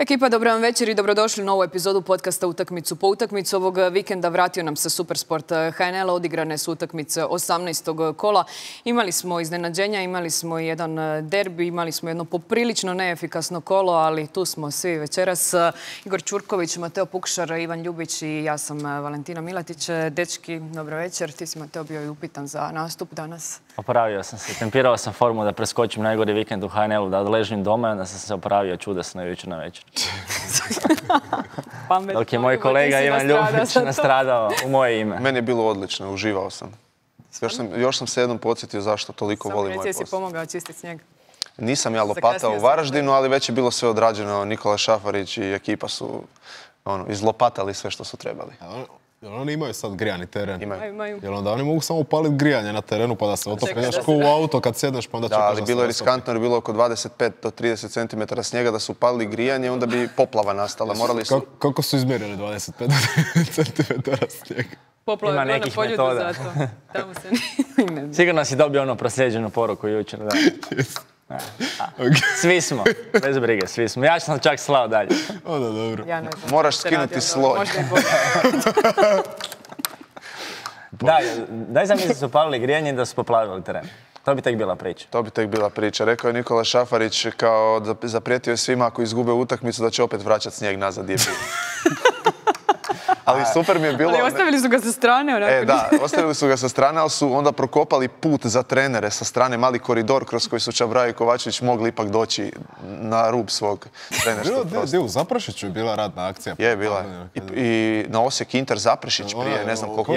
Ekipa, dobro vam večer i dobrodošli u novu epizodu podcasta Utakmicu po utakmicu. Ovog vikenda vratio nam se Supersport HNL, odigrane su utakmice 18. kola. Imali smo iznenađenja, imali smo jedan derbi, imali smo jedno poprilično neefikasno kolo, ali tu smo svi večeras. Igor Ćurković, Mateo Pukšar, Ivan Ljubić i ja sam Valentina Milatić. Dečki, dobro večer. Ti si, Mateo, bio i upitan za nastup danas. Opravio sam se. Tempirao sam formu da preskočim najgori vikend u HNL-u, da odležim doma i onda sam se opravio čudesno jučer na večer. Dok je moj kolega Ivan Ljubić nastradao u moje ime. Meni je bilo odlično, uživao sam. Još sam se jednom podsjetio zašto toliko volim moj posao. Si pomogao čistiti snijeg? Nisam ja lopatao u Varaždinu, ali već je bilo sve odrađeno. Nikola Šafarić i ekipa su izlopatali sve što su trebali. Jel oni imaju sad grijani teren? Imaju. Jel onda oni mogu samo upaliti grijanje na terenu pa da se otope? Znaš ko u auto kad sjedneš pa onda čekaš da se otope. Da, ali bilo je riskantno jer je bilo oko 25 do 30 cm snijega da su upalili grijanje, onda bi poplava nastala. Morali su... Kako su izmjerili 25 do 30 cm snijega? Poplava je bilo na Poljudu zato. Tamo se ne... Sigurno si dobio ono proslijeđenu poruku jučer, da. Svi smo, bez brige, svi smo. Ja sam čak slao dalje. Onda dobro. Ja ne znam. Moraš skinuti sloj. Daj zamisli da su upalili grijanje i da su poplavili teren. To bi tek bila priča. To bi tek bila priča. Rekao je Nikola Šafarić kao zaprijetio je svima ako izgube utakmicu da će opet vraćati snijeg nazad gdje je bio. Ali super mi je bilo... Ali ostavili su ga sa strane, onako. Da, ostavili su ga sa strane, ali su onda prokopali put za trenere sa strane, mali koridor kroz koji su Čabraja i Kovačević mogli ipak doći na rub svog trenerskog prostora. U Zaprešiću je bila radna akcija. Je, bila. I na Osijek Inter Zaprešić prije, ne znam koliko...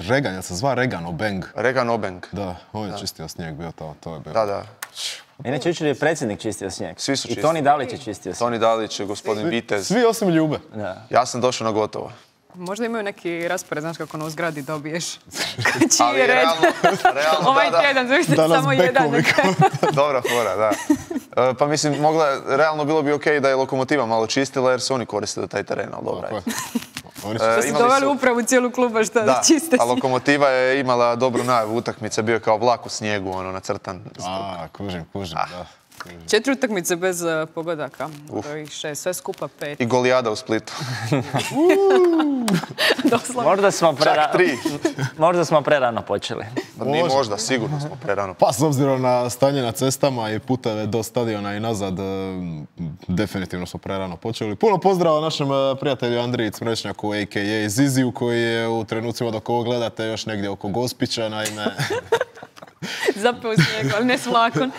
Regan, ja se zva Regan Obeng. Regan Obeng. Da, on je čistio snijeg bio to je bilo. Da. Inače, jučer je predsjednik čistio snijeg. Svi su čistili. I Toni Dalić je čistio snijeg. Toni Dalić, gospodin Vitez. Svi osim Ljube. Ja sam došao na gotovo. Možda imaju neki raspored, znaš kako u zgradi dobiješ. Ali je realno, ovaj tjedan, zavisite samo jedan. Dobra fora, da. Pa mislim, realno bilo bi okej da je Lokomotiva malo čistila jer su oni koristili taj teren, ali dobra je. Da su doveli upravu cijelu kluba što da čiste snijeg. A Lokomotiva je imala dobru najavu utakmice, bio je kao vlak u snijegu, nacrtan. Kužim, da. 4 utakmice bez pogodaka, to je 6, sve skupa 5. I golijada u Splitu. Možda smo prerano počeli. Mi možda, sigurno smo prerano. Pa s obzirom na stanje na cestama i puteve do stadiona i nazad, definitivno smo prerano počeli. Puno pozdrava našem prijatelju Andriji Cmrečnjaku, a.k.a. Ziziju, koji je u trenucima dok ovo gledate još negdje oko Gospića, naime... Zapeo snijeg, ali ne s vlakom.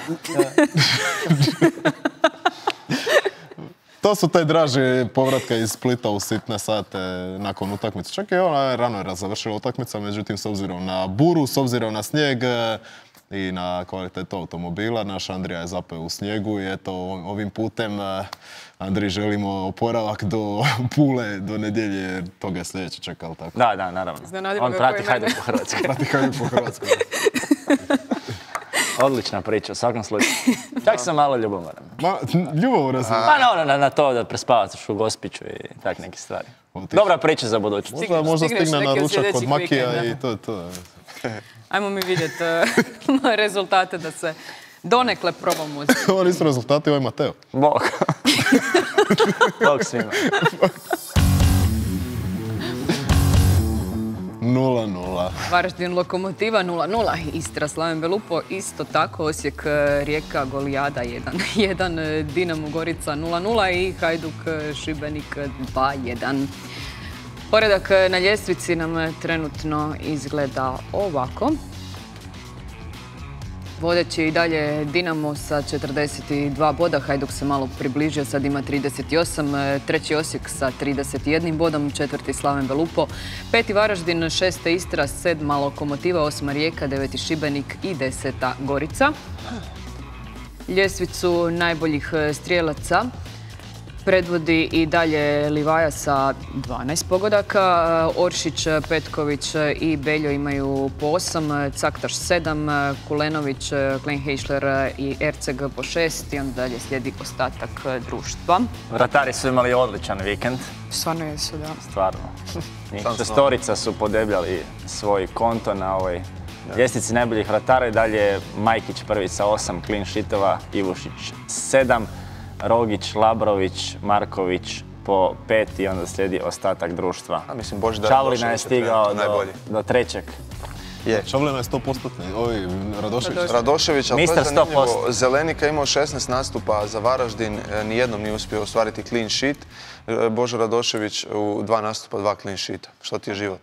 To su te draže povratka iz Splita u sitne sate nakon utakmice. Čak i ona rano je završila utakmica, međutim s obzirom na buru, s obzirom na snijeg i na kvalitetu automobila, naš Andrija je zapeo u snijegu i eto ovim putem Andriji želimo oporavak do Pule, do nedjelje, jer toga je sljedeće čekalo tako. Da, naravno. On prati Hajduk po Hrvatskoj. Prati Hajduk po Hrvatskoj. Odlična priča, u svakom slučaju. Čak sam malo ljubomoran. Ljubomoran sam? Pa na to da prespavaš u Gospiću i tak neke stvari. Dobra priča za budućnost. Možda stigne na ručak kod Makija i to je to. Ajmo mi vidjeti rezultate da se donekle probamo. Ovo nisu rezultati, ovo je Mateo. Bog. Bog svima. 0-0. Varaždin Lokomotiva 0-0. Istra Slaven Belupo isto tako. Osijek Rijeka Golijada 1-1. Dinamo Gorica 0-0 i Hajduk Šibenik 2-1. Poredak na ljestvici nam trenutno izgleda ovako. Vodeći i dalje Dinamo sa 42 boda, Hajduk se malo približio, sad ima 38, treći Osijek sa 31 bodom, četvrti Slaven Belupo, peti Varaždin, šeste Istra, sedma Lokomotiva, osma Rijeka, deveti Šibenik i deseta Gorica. Ljestvicu najboljih strijelaca predvodi i dalje Livaja sa 12 pogodaka. Oršić, Petković i Beljo imaju po 8, Caktaš 7, Kulenović, Kleinheischler i Erceg po 6 i onda dalje slijedi ostatak društva. Vratari su imali odličan vikend. Stvarno jesu, da. Stvarno. Šestorica su podebljali svoj konto na ovoj ljestvici najboljih vratara i dalje Majkić prvi sa 8 clean sheetova, Ivušić 7. Rogić, Labrović, Marković po 5 i onda slijedi ostatak društva. A mislim, Božidar Čavlina je stigao do 3. Je. Čavlina je 100%. Radošević. Radošević, ali to Mister je zanimljivo. 100%. Zelenika je imao 16 nastupa za Varaždin, nijednom nije uspio ostvariti clean sheet. Božo Radošević u 2 nastupa, 2 clean sheeta. Što ti je život?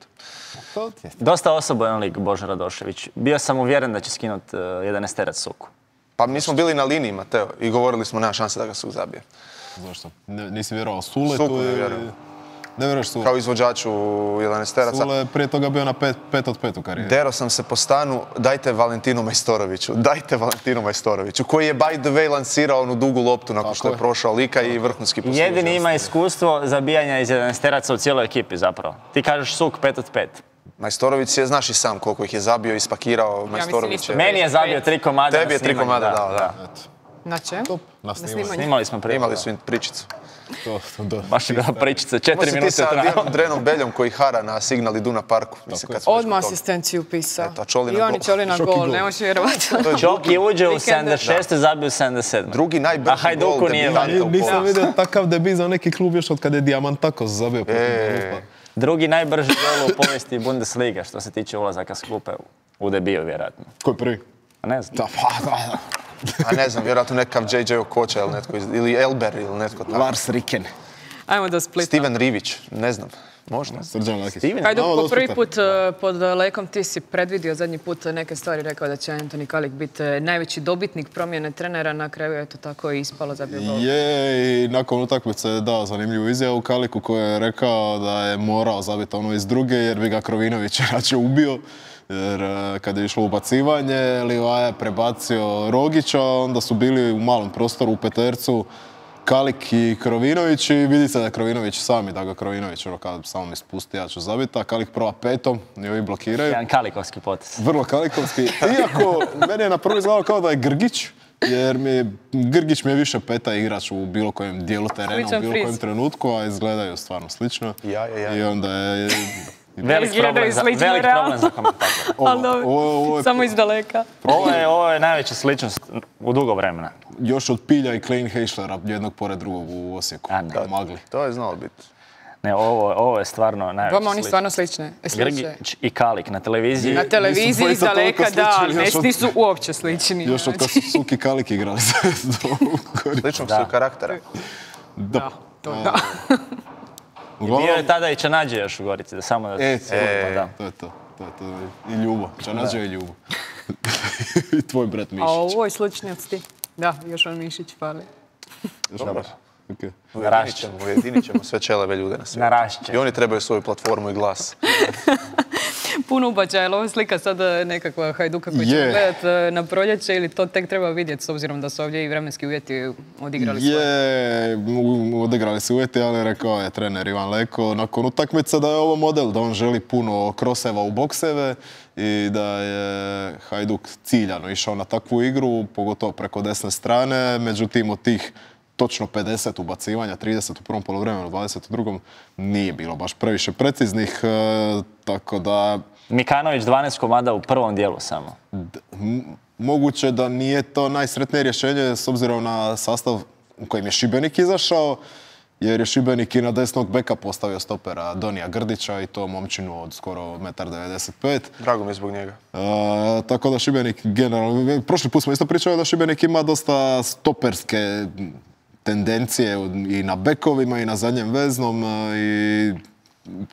Dosta osobojan lik Božo Radošević. Bio sam uvjeren da će skinuti 11 Suku. Pa mi smo bili na liniji, Mateo, i govorili smo nema šanse da ga Suk zabije. Zašto? Nisi vjerovao Suletu? Suku ne vjerujem. Ne vjeruješ Suletu? Kao izvođaču 11-teraca. Sule je prije toga bio na 5 od 5 u karijeri. Dero sam se po stanu, dajte Valentinu Majstoroviću, koji je by the way lansirao onu dugu loptu nakon što je prošao lika i vrhunski poslužio. Jedini ima iskustvo zabijanja iz 11 u cijeloj ekipi zapravo. Ti kažeš Suk 5 od 5. Majstorović je, znaš i sam koliko ih je zabio, ispakirao. Majstorović je... Meni je zabio 3 komada. Tebi je 3 komada dao, da. Na čemu? Na snimanju. Snimali smo prije. Imali su im pričicu. Baš je bila pričica, 4 Možda ti minute sa trajala. Dijanom Drenom Beljom koji hara na Signal Iduna Parku. Odmah asistenciju pisao. Čolina I on je gol. Čolina gol, ne možeš vjerovati. Čoki uđe u Vikenda. 76. zabio u 77. Drugi A najbrži gol Hajduku nije debitanta u Nisam povijesti. vidio takav debit za neki klub još od kada je Diamantakos zabio protiv Belupa. Drugi najbrži gol u povijesti Bundesliga što se tiče ulazaka s klupe u debiju vjerojatno. Ko je prvi? A ne znam. Da. A ne znam, vjerojatno nekakav JJ Okocha ili netko, ili Elber ili netko tako. Lars Riken. Ajmo do Splita. Steven Rivić, ne znam, možda. Srđan Lakić. Hajduk, Malo po prvi dostupan. put pod Lekom ti si predvidio zadnji put neke stvari, rekao da će Antoni Kalik biti najveći dobitnik promjene trenera, na kraju je to tako i ispalo za gol. Je, i nakon utakmice je dao zanimljivu izjavu Kaliku koji je rekao da je morao zabiti ono iz druge jer bi ga Krovinović rače ubio. Jer kada je išlo ubacivanje, Livaja je prebacio Rogića, onda su bili u malom prostoru u petercu Kalik i Krovinović i vidi se da je Krovinović sami, da ga Krovinović samo mi spusti, ja ću zabiti, a Kalik prva 5 i ovi blokiraju. Jedan kalikovski potez. Vrlo kalikovski. Iako, meni je na prvi izgledalo kao da je Grgić, jer Grgić mi je više peta igrač u bilo kojem dijelu terena, u bilo kojem trenutku, a izgledaju stvarno slično. Ja. I onda je... Velik problem za komentatora. Samo iz daleka. Ovo je najveća sličnost u dugo vremena. Još od Pilja i Klein Heischlera, jednog pored drugog u Osijeku. A ne. Magli. To je znalo biti. Ne, ovo je stvarno najveća Vama oni stvarno slične. Grgić i Kalik na televiziji. Na televiziji iz daleka, da, nisu uopće slični. Još od kad su Suk i Kalik igrali. Sličnog su karaktera. Da. Bio je tada i Čanađe još u Gorici, da samo da... To je to. I Ljubo. Čanađe i Ljubo. I tvoj brat Mišić. A ovo je sličnjac ti. Da, još on Mišić fali. Dobar. Narašće. Ujedinit ćemo sve čeleve ljude na svijetu. Narašće. I oni trebaju svoju platformu i glas. Puno ubačaja, ali ovo je slika sad nekakva Hajduka koji ćemo gledati na proljeće ili to tek treba vidjeti s obzirom da su ovdje i vremenski uvjeti odigrali svoje? Odigrali su uvjeti, ali rekao je trener Ivan Leko nakon utakmice da je ovo model, da on želi puno kroseva u bokseve i da je Hajduk ciljano išao na takvu igru, pogotovo preko desne strane, međutim od tih točno 50 ubacivanja, 30 u prvom poluvremenu, 20 u drugom, nije bilo baš previše preciznih, tako da... Mikanović 12 komada u prvom dijelu samo. Moguće da nije to najsretnije rješenje s obzirom na sastav u kojem je Šibenik izašao, jer je Šibenik i na desnog beka postavio stopera Donija Grdića i to momčinu od skoro 1,95 m. Drago mi je zbog njega. Tako da Šibenik generalno... Prošli put smo isto pričali da Šibenik ima dosta stoperske tendencije i na bekovima i na zadnjem veznom i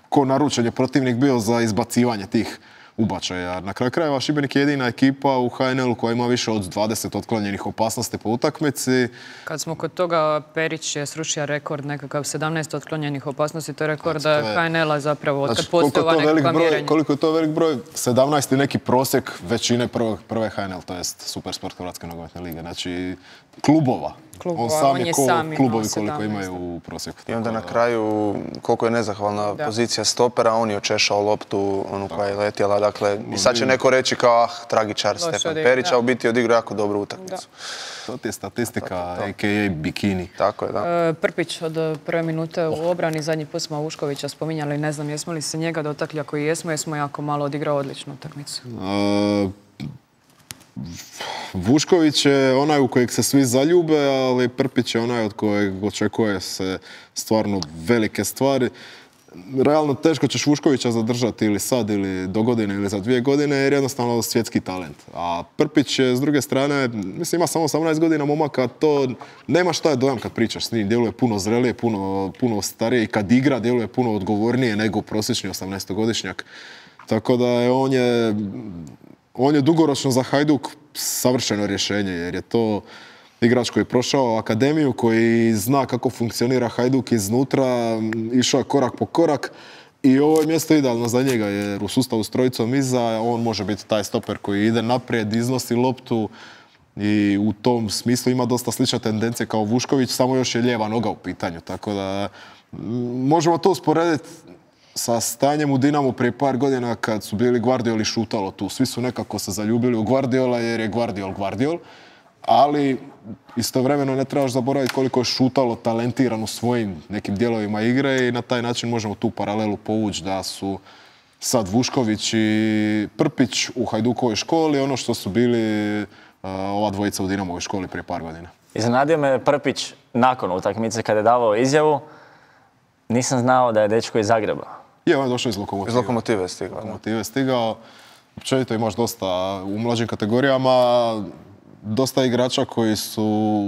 ko naručen je protivnik bio za izbacivanje tih ubačaja. Na kraju krajeva Šibenik je jedina ekipa u HNL-u koja ima više od 20 otklonjenih opasnosti po utakmici. Kad smo kod toga, Perić je srušio rekord nekakav 17 otklonjenih opasnosti, to je rekord HNL-a zapravo od kad postoje ova nekakva mjerenja. Koliko je to velik broj? 17 je neki prosjek većine prve HNL, to jest Supersport Hrvatske nogometne lige. Znači klubova. On sam je klubovi koliko imaju u prosjeku. I onda na kraju, koliko je nezahvalna pozicija stopera, on je očešao loptu, onu koja je letjela. Dakle, i sad će neko reći kao, tragičar Stefan Perić, a u biti je odigrao jako dobru utakmicu. To ti je statistika, a.k.a. bikini. Tako je, da. Prpić od prve minute u obrani, zadnji put smo Vuškovića spominjali, ne znam jesmo li se njega dotakli, ako i jesmo jako malo odigrao odličnu utakmicu. Vušković je onaj u kojeg se svi zaljube, ali Prpić je onaj od kojeg očekuje se stvarno velike stvari. Realno teško ćeš Vuškovića zadržati ili sad, ili do godine, ili za 2 godine, jer jednostavno svjetski talent. A Prpić je, s druge strane, mislim, ima samo 18 godina momaka, to nema šta je dojam kad pričaš s njim. Djeluje puno zrelije, puno starije i kad igra djeluje puno odgovornije nego prosječni 18-godišnjak. Tako da on je dugoročno za Hajduk savršeno rješenje, jer je to igrač koji je prošao akademiju, koji zna kako funkcionira Hajduk iznutra, išao je korak po korak i ovo je mjesto idealno za njega, jer u sustavu s trojicom iza on može biti taj stoper koji ide naprijed, iznosi loptu i u tom smislu ima dosta slične tendencije kao Vušković, samo još je lijeva noga u pitanju, tako da možemo to usporediti sa stanjem u Dinamu prije par godina kad su bili Guardioli šutalo tu. Svi su nekako se zaljubili u Guardiola jer je Guardiol, ali istovremeno ne trebaš zaboraviti koliko je šutalo talentiran u svojim nekim dijelovima igre i na taj način možemo tu paralelu povući da su sad Vušković i Prpić u Hajdukovoj školi ono što su bili ova dvojica u Dinamovoj školi prije par godina. Iznenadio me Prpić nakon utakmice kada je davao izjavu. Nisam znao da je dečko iz Zagreba. Je, on je došao iz Lokomotive. Iz Lokomotive je stigao. Općenito imaš dosta u mlađim kategorijama, dosta igrača koji su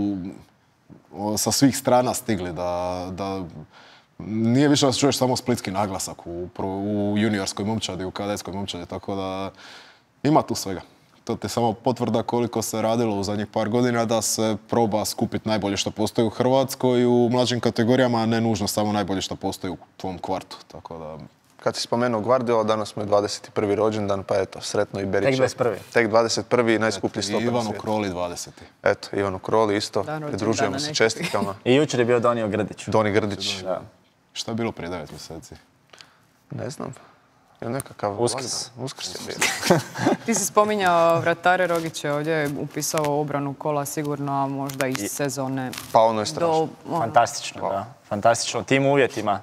sa svih strana stigli da nije više da se čuješ samo splitski naglasak u juniorskoj momčadi, u kadetskoj momčadi, tako da ima tu svega. To ti samo potvrda koliko se radilo u zadnjih par godina da se proba skupiti najbolje što postoji u Hrvatskoj i u mlađim kategorijama, a ne nužno samo najbolje što postoji u tvom kvartu. Tako da... Kad si spomenuo Guardiola, danas mu je 21. rođendan, pa eto, sretno i Berića. Tek 21. najskuplji stoper. Ivanu Kroli 20. Eto, Ivanu Kroli isto, pridružujemo se čestitkama. I jučer je bio Donio Grdić. Doni Grdić. Da. Šta je bilo prije 9 mjeseci? Ne znam. Je nekakav... Uskrs. Uskrs je bio. Ti si spominjao vratare Rogić je ovdje upisao obranu kola sigurno, a možda i sezone. Pa ono je strašno. Fantastično, da. Fantastično. U tim uvjetima.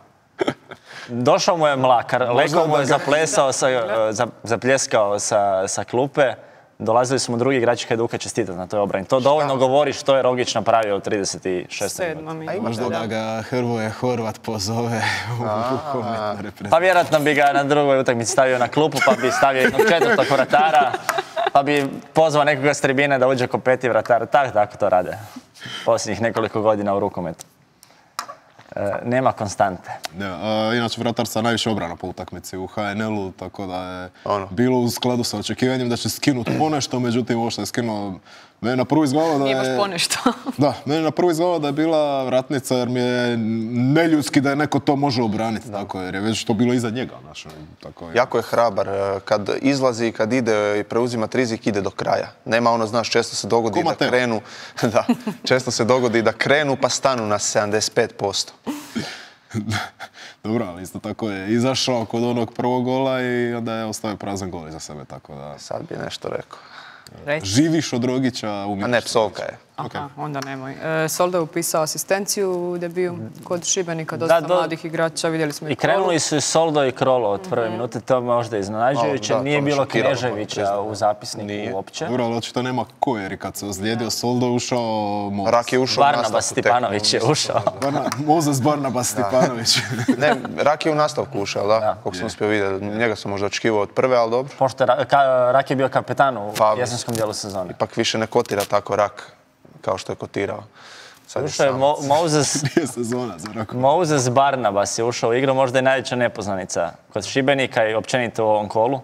Došao mu je Mlakar, Leko mu je zapljeskao sa klupe. Dolazili su mu drugi igrači Hajduka čestitati na toj obrani. To dovoljno govori što je Rogić napravio u 36. minuti. Možda da ga Hrvoje Horvat pozove u rukometnu reprezentaciju. Pa vjerojatno bi ga na drugoj utakmici stavio na klupu, pa bi stavio jednog 4. vratara, pa bi pozvao nekoga s tribine da uđe ko 5. vratar. Tako to rade posljednjih nekoliko godina u rukometu. Nema konstante. Inače, vratar sa najviše obrana po utakmici u HNL-u, tako da je bilo u skladu sa očekivanjem da će skinuti ponešto, međutim ovo što je skinuo, mene na prvu izgledalo da je... Nije baš ponešto. Da, mene na prvu izgledalo da je bila vratnica jer mi je neljudski da je neko to može obraniti, tako jer je već to bilo iza njega. Jako je hrabar, kad izlazi i kad ide i preuzima rizik, ide do kraja. Nema ono, znaš, često se dogodi da krenu, često se dogodi da krenu pa stanu na 75%. Dobro, ali isto tako je izašao kod onog prvog gola i onda je ostavio prazan gol iza sebe, tako da... Sad bi nešto rekao. Živiš od Rogića, umiješ. A ne, psovka je. Aha, onda nemoj. Soldo je upisao asistenciju u debiju kod Šibenika, dosta mladih igrača, vidjeli smo i krenuli su i Soldo i Krolo od prve minute, to možda iznenađujuće. Nije bilo Kneževića u zapisniku uopće. Dobro, ali očito nema ko, jer kad se ozlijedio Soldo ušao Mozes. Rak je ušao u Barnabas Stipanović je ušao. Mozes Barnabas Stipanović. Ne, Rak je u nastavku ušao, da? Koliko sam uspio vidjeti. Njega sam možda očekivao od prve, ali dobro. Pošto Rak je bio kapetan u jesenskom dijelu sezone. Ipak više ne kotira tako Rak kao što je kotirao. Ušao je Mozes Barnabas je ušao u igru, možda je najveća nepoznanica kod Šibenika i općenito u ovom kolu.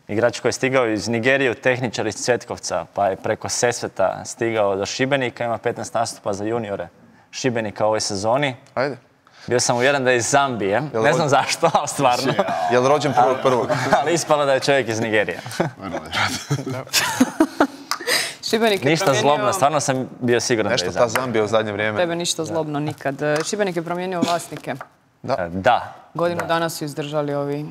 Igrač koji je stigao iz Nigerije, tehničar iz Cvetkovca, pa je preko Sesveta stigao do Šibenika, ima 15 nastupa za juniore Šibenika u ovoj sezoni. Ajde. Bio sam uvjeren da je iz Zambije, ne znam zašto, ali stvarno. Je li rođen 1.1.? Ali ispalo da je čovjek iz Nigerije. Ništa zlobno, stvarno sam bio siguran da je Nešto ta Zambija u zadnje vrijeme. Tebe ništa zlobno nikad. Šibenik je promijenio vlasnike. Da. Godinu dana su izdržali ovi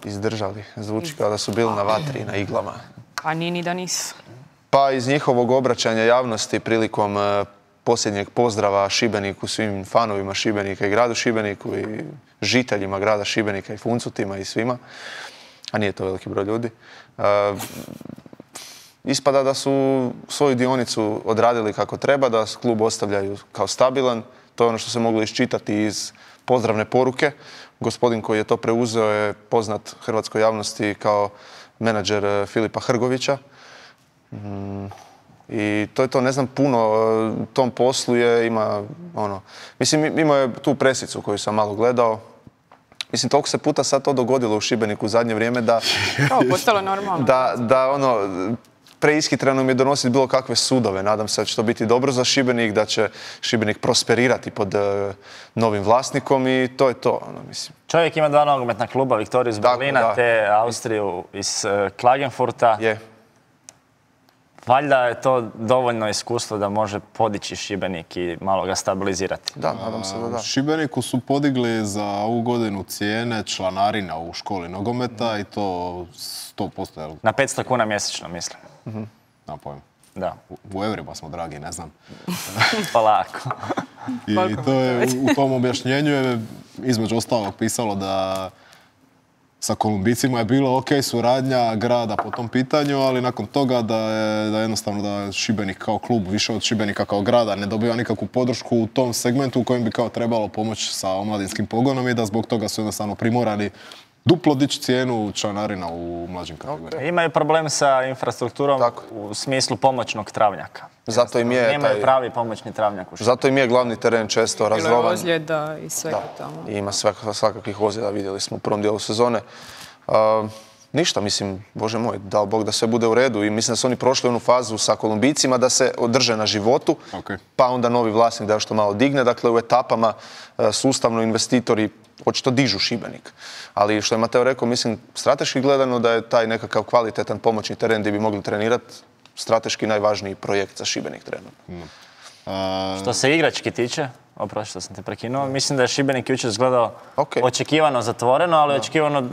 Izdržali. Zvuči kao da su bili na vatri i na iglama. A nije ni da nisu. Pa iz njihovog obraćanja javnosti prilikom posljednjeg pozdrava Šibeniku, svim fanovima Šibenika i gradu Šibeniku i žiteljima grada Šibenika i Funcutima i svima, a nije to veliki broj ljudi, ispada da su svoju dionicu odradili kako treba, da klub ostavljaju kao stabilan. To je ono što se moglo iščitati iz pozdravne poruke. Gospodin koji je to preuzeo je poznat hrvatskoj javnosti kao menadžer Filipa Hrgovića. I to je to, ne znam puno, tom poslu ima mislim, imao je tu presicu koju sam malo gledao. Mislim, toliko se puta sad to dogodilo u Šibeniku u zadnje vrijeme da... Kao postalo normalno. Da preishitreno mi je donositi bilo kakve sudove. Nadam se da će to biti dobro za Šibenik, da će Šibenik prosperirati pod novim vlasnikom i to je to. Mislim. Čovjek ima 2 nogometna kluba, Viktoriju iz Berlina te Austriju iz Klagenfurta. Je. Valjda je to dovoljno iskustvo da može podići Šibenik i malo ga stabilizirati. Da, nadam se da. Šibeniku su podigli za ovu godinu cijene članarina u školi nogometa i to 100%. Na 500 kuna mjesečno, mislim. Na pojem. Da. U eurima smo dragi, ne znam. Polako. I to je, u tom objašnjenju je između ostalog pisalo da sa Kolumbijcima je bilo ok suradnja grada po tom pitanju, ali nakon toga da jednostavno da Šibenik kao klub više od Šibenika kao grada ne dobiva nikakvu podršku u tom segmentu u kojem bi kao trebalo pomoći sa omladinskim pogonom i da zbog toga su jednostavno primorani duplo dići cijenu članarina u mlađim kategorijama. Imaju problem sa infrastrukturom u smislu pomoćnog travnjaka. Zato im je nemaju pravi pomoćni travnjak u Šibeniku. Zato im je glavni teren često razrovan. Bilo je ozljeda i svega tamo. Ima svakakvih ozljeda, vidjeli smo u prvom dijelu sezone. Ništa, mislim, Bože moj, dao Bog da sve bude u redu i mislim da su oni prošli onu fazu sa Kolumbijcima da se održe na životu, pa onda novi vlasnik da još to malo digne. Dakle, u etapama sustavno investitori očito dižu Šibenik. Ali što je Mateo rekao, mislim, strateški gledano da je taj nekakav kvalitetan pomoćni teren gdje bi mogli trenirati strateški najvažniji projekt za Šibenik trenutno. Što se igrački tiče, oprosti što sam te prekinuo, mislim da je Šibenik jučer izgledao očekivano zatvoreno, ali očekivano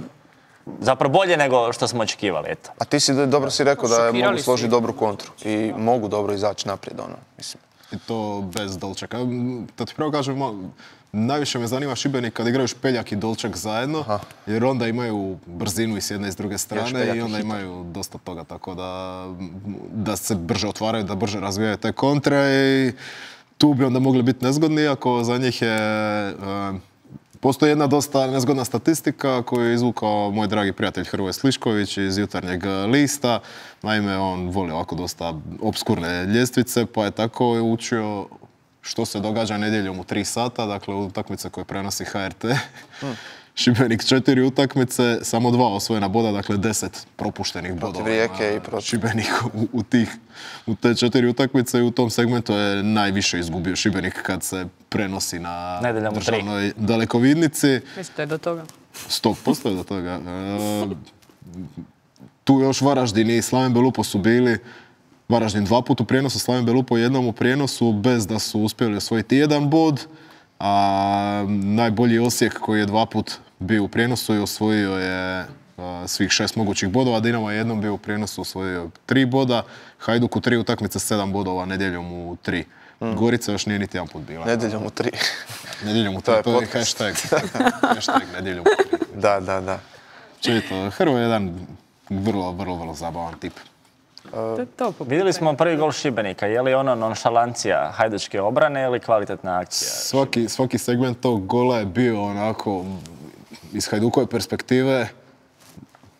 zapravo bolje nego što smo očekivali, eto. A ti dobro si rekao da mogu složiti dobru kontru i mogu dobro izaći naprijed, mislim. I to bez Dolčaka. Da ti pravo kažem, najviše me zanima Šibenik kad igraju Špeljak i Dolčak zajedno, jer onda imaju brzinu i s jedne i s druge strane i onda imaju dosta toga, tako da se brže otvaraju, da brže razvijaju te kontre i tu bi onda mogli biti nezgodni, iako za njih je... Postoji jedna dosta nezgodna statistika koju je izvukao moj dragi prijatelj Hrvoje Slišković iz Jutarnjeg lista. Naime, on voli ovako dosta obskurne ljestvice, pa je tako učio što se događa nedjeljom u 3 sata, dakle utakmice koje prenosi HRT. Šibenik 4 utakmice, samo 2 osvojena boda, dakle 10 propuštenih bodova. Protiv Rijeke i protiv Šibenik u te 4 utakmice i u tom segmentu je najviše izgubio Šibenik kad se prenosi na državnoj dalekovidnici. Mislite do toga? 100% do toga. Tu još Varaždin i Slaven Belupo su bili. Varaždin 2 puta u prijenosu, Slaven Belupo 1 u prijenosu bez da su uspjeli osvojiti 1 bod. A najbolji Osijek koji je 2 puta bio u prijenosu i osvojio je svih 6 mogućih bodova. Dinamo je 1 bio u prijenosu, osvojio 3 boda. Hajduk u 3 utakmice 7 bodova, nedjeljom u 3. Gorica još nije niti 1 put bila. Nedjeljom u 3. Nedjeljom u 3, to je hashtag. Hashtag nedjeljom u 3. Da. Čujte, Hrvo je jedan vrlo zabavan tip. Vidjeli smo prvi gol Šibenika. Je li ono nonšalancija hajdučke obrane ili kvalitetna akcija? Svaki segment tog gola je bio onako iz Hajdukove perspektive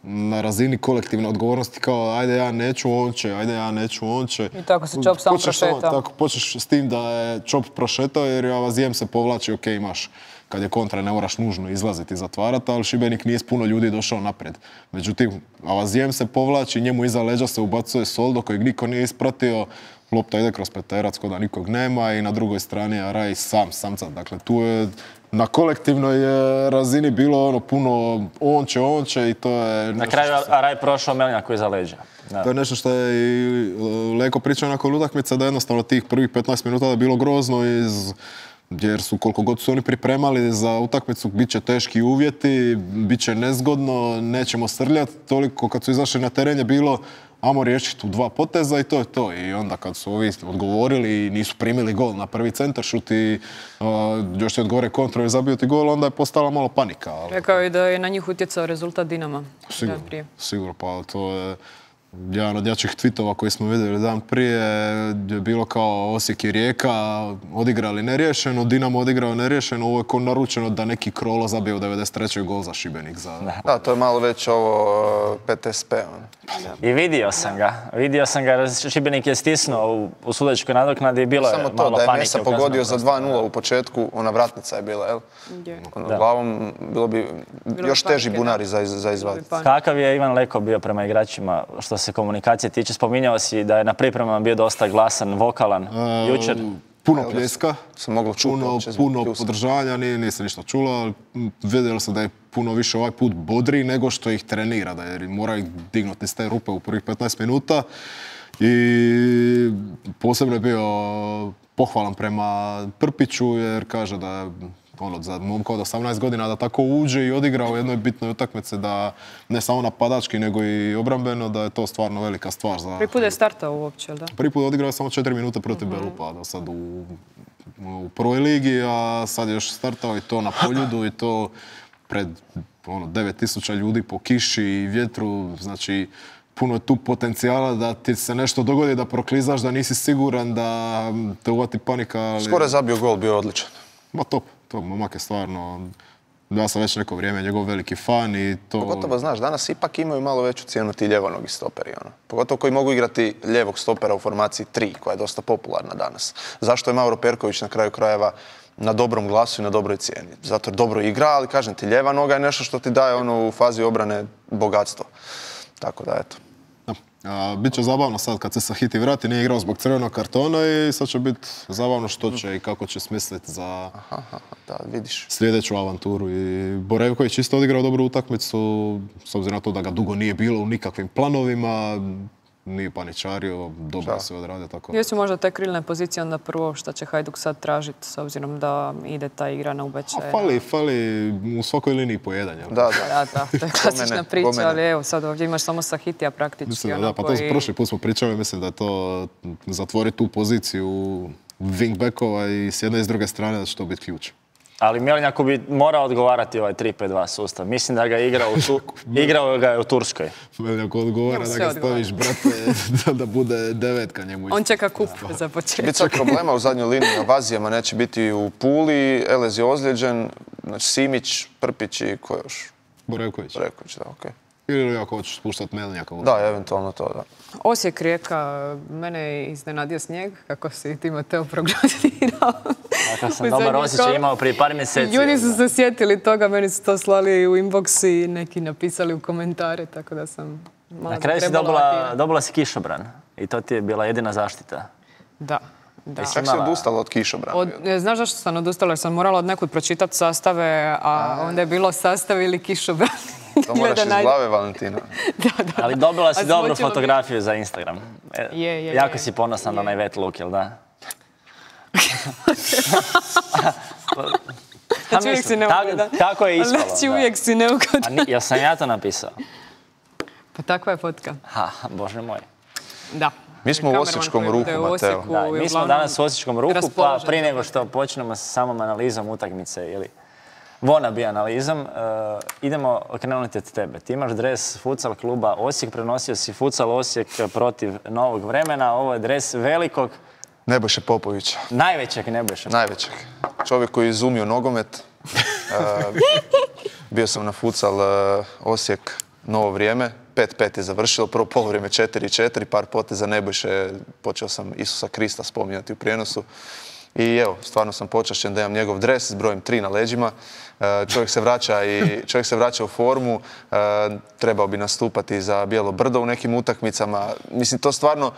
na razini kolektivne odgovornosti kao ajde ja neću, on će. I tako se Čop sam prošetao. Tako počeš s tim da je Čop prošetao jer Avazijem se povlači, ok, imaš kad je kontra ne moraš nužno izlaziti i zatvarati, ali Šibenik nije s puno ljudi došao naprijed. Međutim, Avazijem se povlači, njemu iza leđa se ubacuje Soldo kojeg niko nije ispratio, lopta ide kroz peterac kod da nikog nema i na drugoj strani je Araj samcat. Dakle, tu je na kolektivnoj razini bilo puno on će i to je... Na kraju Araj prošao Melnjaku iza leđa. To je nešto što je i Leko pričao nakon utakmice da jednostavno tih prvih 15 minuta da je bilo grozno jer su koliko god su oni pripremali za utakmicu, bit će teški uvjeti, bit će nezgodno, nećemo srljati. Toliko kad su izašli na teren je bilo ajmo riješiti u 2 poteza i to je to. I onda kad su ovi odgovorili i nisu primili gol na prvi centaršut i još se odgovore kontro i zabio ti gol, onda je postala malo panika. Rekao je da je na njih utjecao rezultat Dinama. Sigurno, pa jedan od jačih tweetova koji smo vidjeli dan prije je bilo kao Osijek i Rijeka odigrali neriješeno, Dinamo odigrao neriješeno, ovo je ko naručeno da neki Krolo zabije u 93. gol za Šibenik. Da, to je malo već ovo PTSP. I vidio sam ga jer Šibenik je stisnuo u sudačkoj nadoknadi i bilo je malo panike. Samo to, da je Mesa pogodio za 2:0 u početku, ona vratnica je bila, jel? Glavom bilo bi još teži bunari za izvaditi. Kakav je Ivan Leko bio prema igračima što se komunikacije tiče? Spominjao si da je na pripremama bio dosta glasan, vokalan jučer. Puno pljeska, puno podržavanja, nisam ništa čula, ali vidjeli sam da je puno više ovaj put bodri nego što ih trenira, da jer mora ih dignuti iz te rupe u prvih 15 minuta i posebno je bio pohvalan prema Prpiću jer kaže da je za momka od 18 godina da tako uđe i odigra u jednoj bitnoj utakmici da ne samo napadački nego i obrambeno, da je to stvarno velika stvar. Prvi put je startao uopće, da? Prvi put je odigrao samo 4 minute protiv Belupa, da sad u prvoj ligi, a sad je još startao i to na Poljudu i to pred 9000 ljudi po kiši i vjetru, znači puno je tu potencijala da ti se nešto dogodi, da proklizaš, da nisi siguran, da te uvati panika. Ali... Skoro je zabio gol, bio odličan. Ma top. To momak je stvarno, ja sam već neko vrijeme njegov veliki fan i to... Pogotovo, znaš, danas ipak imaju malo veću cijenu ti ljevonogi stoperi, ono. Pogotovo koji mogu igrati ljevog stopera u formaciji 3, koja je dosta popularna danas. Zašto je Mauro Perković na kraju krajeva na dobrom glasu i na dobroj cijeni? Zato jer dobro igra, ali kažem ti, ljeva noga je nešto što ti daje ono u fazi obrane bogatstvo. Tako da, eto. Biće zabavno sad kad se Sahiti vrati, nije igrao zbog crvenog kartona i sad će biti zabavno što će i kako će smisliti za sljedeću avanturu. I Borevković isto odigrao dobru utakmicu, s obzirom na to da ga dugo nije bilo u nikakvim planovima, nije paničario, dobro se odradio. Jesu možda te krilne pozicije onda prvo što će Hajduk sad tražiti, s obzirom da ide ta igra na ubeće? Fali u svakoj liniji po jedan. Da, to je klasična priča, ali evo sad ovdje imaš samo Sahitija praktički. Mislim, da, pa to prošli put smo pričali, mislim da je to zatvori tu poziciju wingbackova i s jedne i s druge strane da će to biti ključ. Ali Mjelinjaku bi morao odgovarati ovaj 3-5-2 sustav. Mislim da ga igrao ga je u Turskoj. Mjelinjaku odgovara da ga staviš, brate, da bude devetka njemu. On čeka kup za početak. Biti sad problema u zadnjoj liniji na Vazijama, neće biti u Puli, Elez je ozlijeđen, znači Simić, Prpić i ko još? Borevković. Borevković, da, okej. Ili ako hoćeš spuštati Mjelinjaka. Da, eventualno to, da. Osijek Rijeka, mene je iznenadio snijeg, kako si ti Mateo prognozirao. Tako sam dobar osjećaj imao prije par mjeseci. Ljudi su se sjetili toga, meni su to slali u inbox i neki napisali u komentare, tako da sam malo na kraju si dobila si kišobran i to ti je bila jedina zaštita. Da. Kako si odustala od kišobrana? Znaš zašto sam odustala? Jer sam morala od nekud pročitati sastave, a onda je bilo sastav ili kišobran. To moraš iz glave, Valentina. Da. Ali dobila si dobru fotografiju za Instagram. Jako si ponosan na onaj wet look, jel da? Znači uvijek si neugodan. Tako je ispalo. Znači uvijek si neugodan. Jel sam ja to napisao? Pa takva je fotka. Bože moj. Da. Mi smo u osječkom ruhu, Mateo. Mi smo danas u osječkom ruhu, pa prije nego što počnemo sa samom analizom utakmice ili wannabe analizom, idemo okrenuti od tebe. Ti imaš dres futsal kluba Osijek, prenosio si futsal Osijek protiv Novog vremena. Ovo je dres velikog... Nebojše Popovića. Najvećeg Nebojše. Najvećeg. Čovjek koji je izumio nogomet. Bio sam na futsal Osijek Novo vrijeme. 5-5 je završilo, prvo polovrijeme 4-4, par poteza Nebojše, počeo sam Isusa Krista spominjati u prijenosu. I evo, stvarno sam počašćen da imam njegov dres s brojem 3 na leđima. Čovjek se vraća u formu, trebao bi nastupati za Bijelo brdo u nekim utakmicama. Mislim, to stvarno,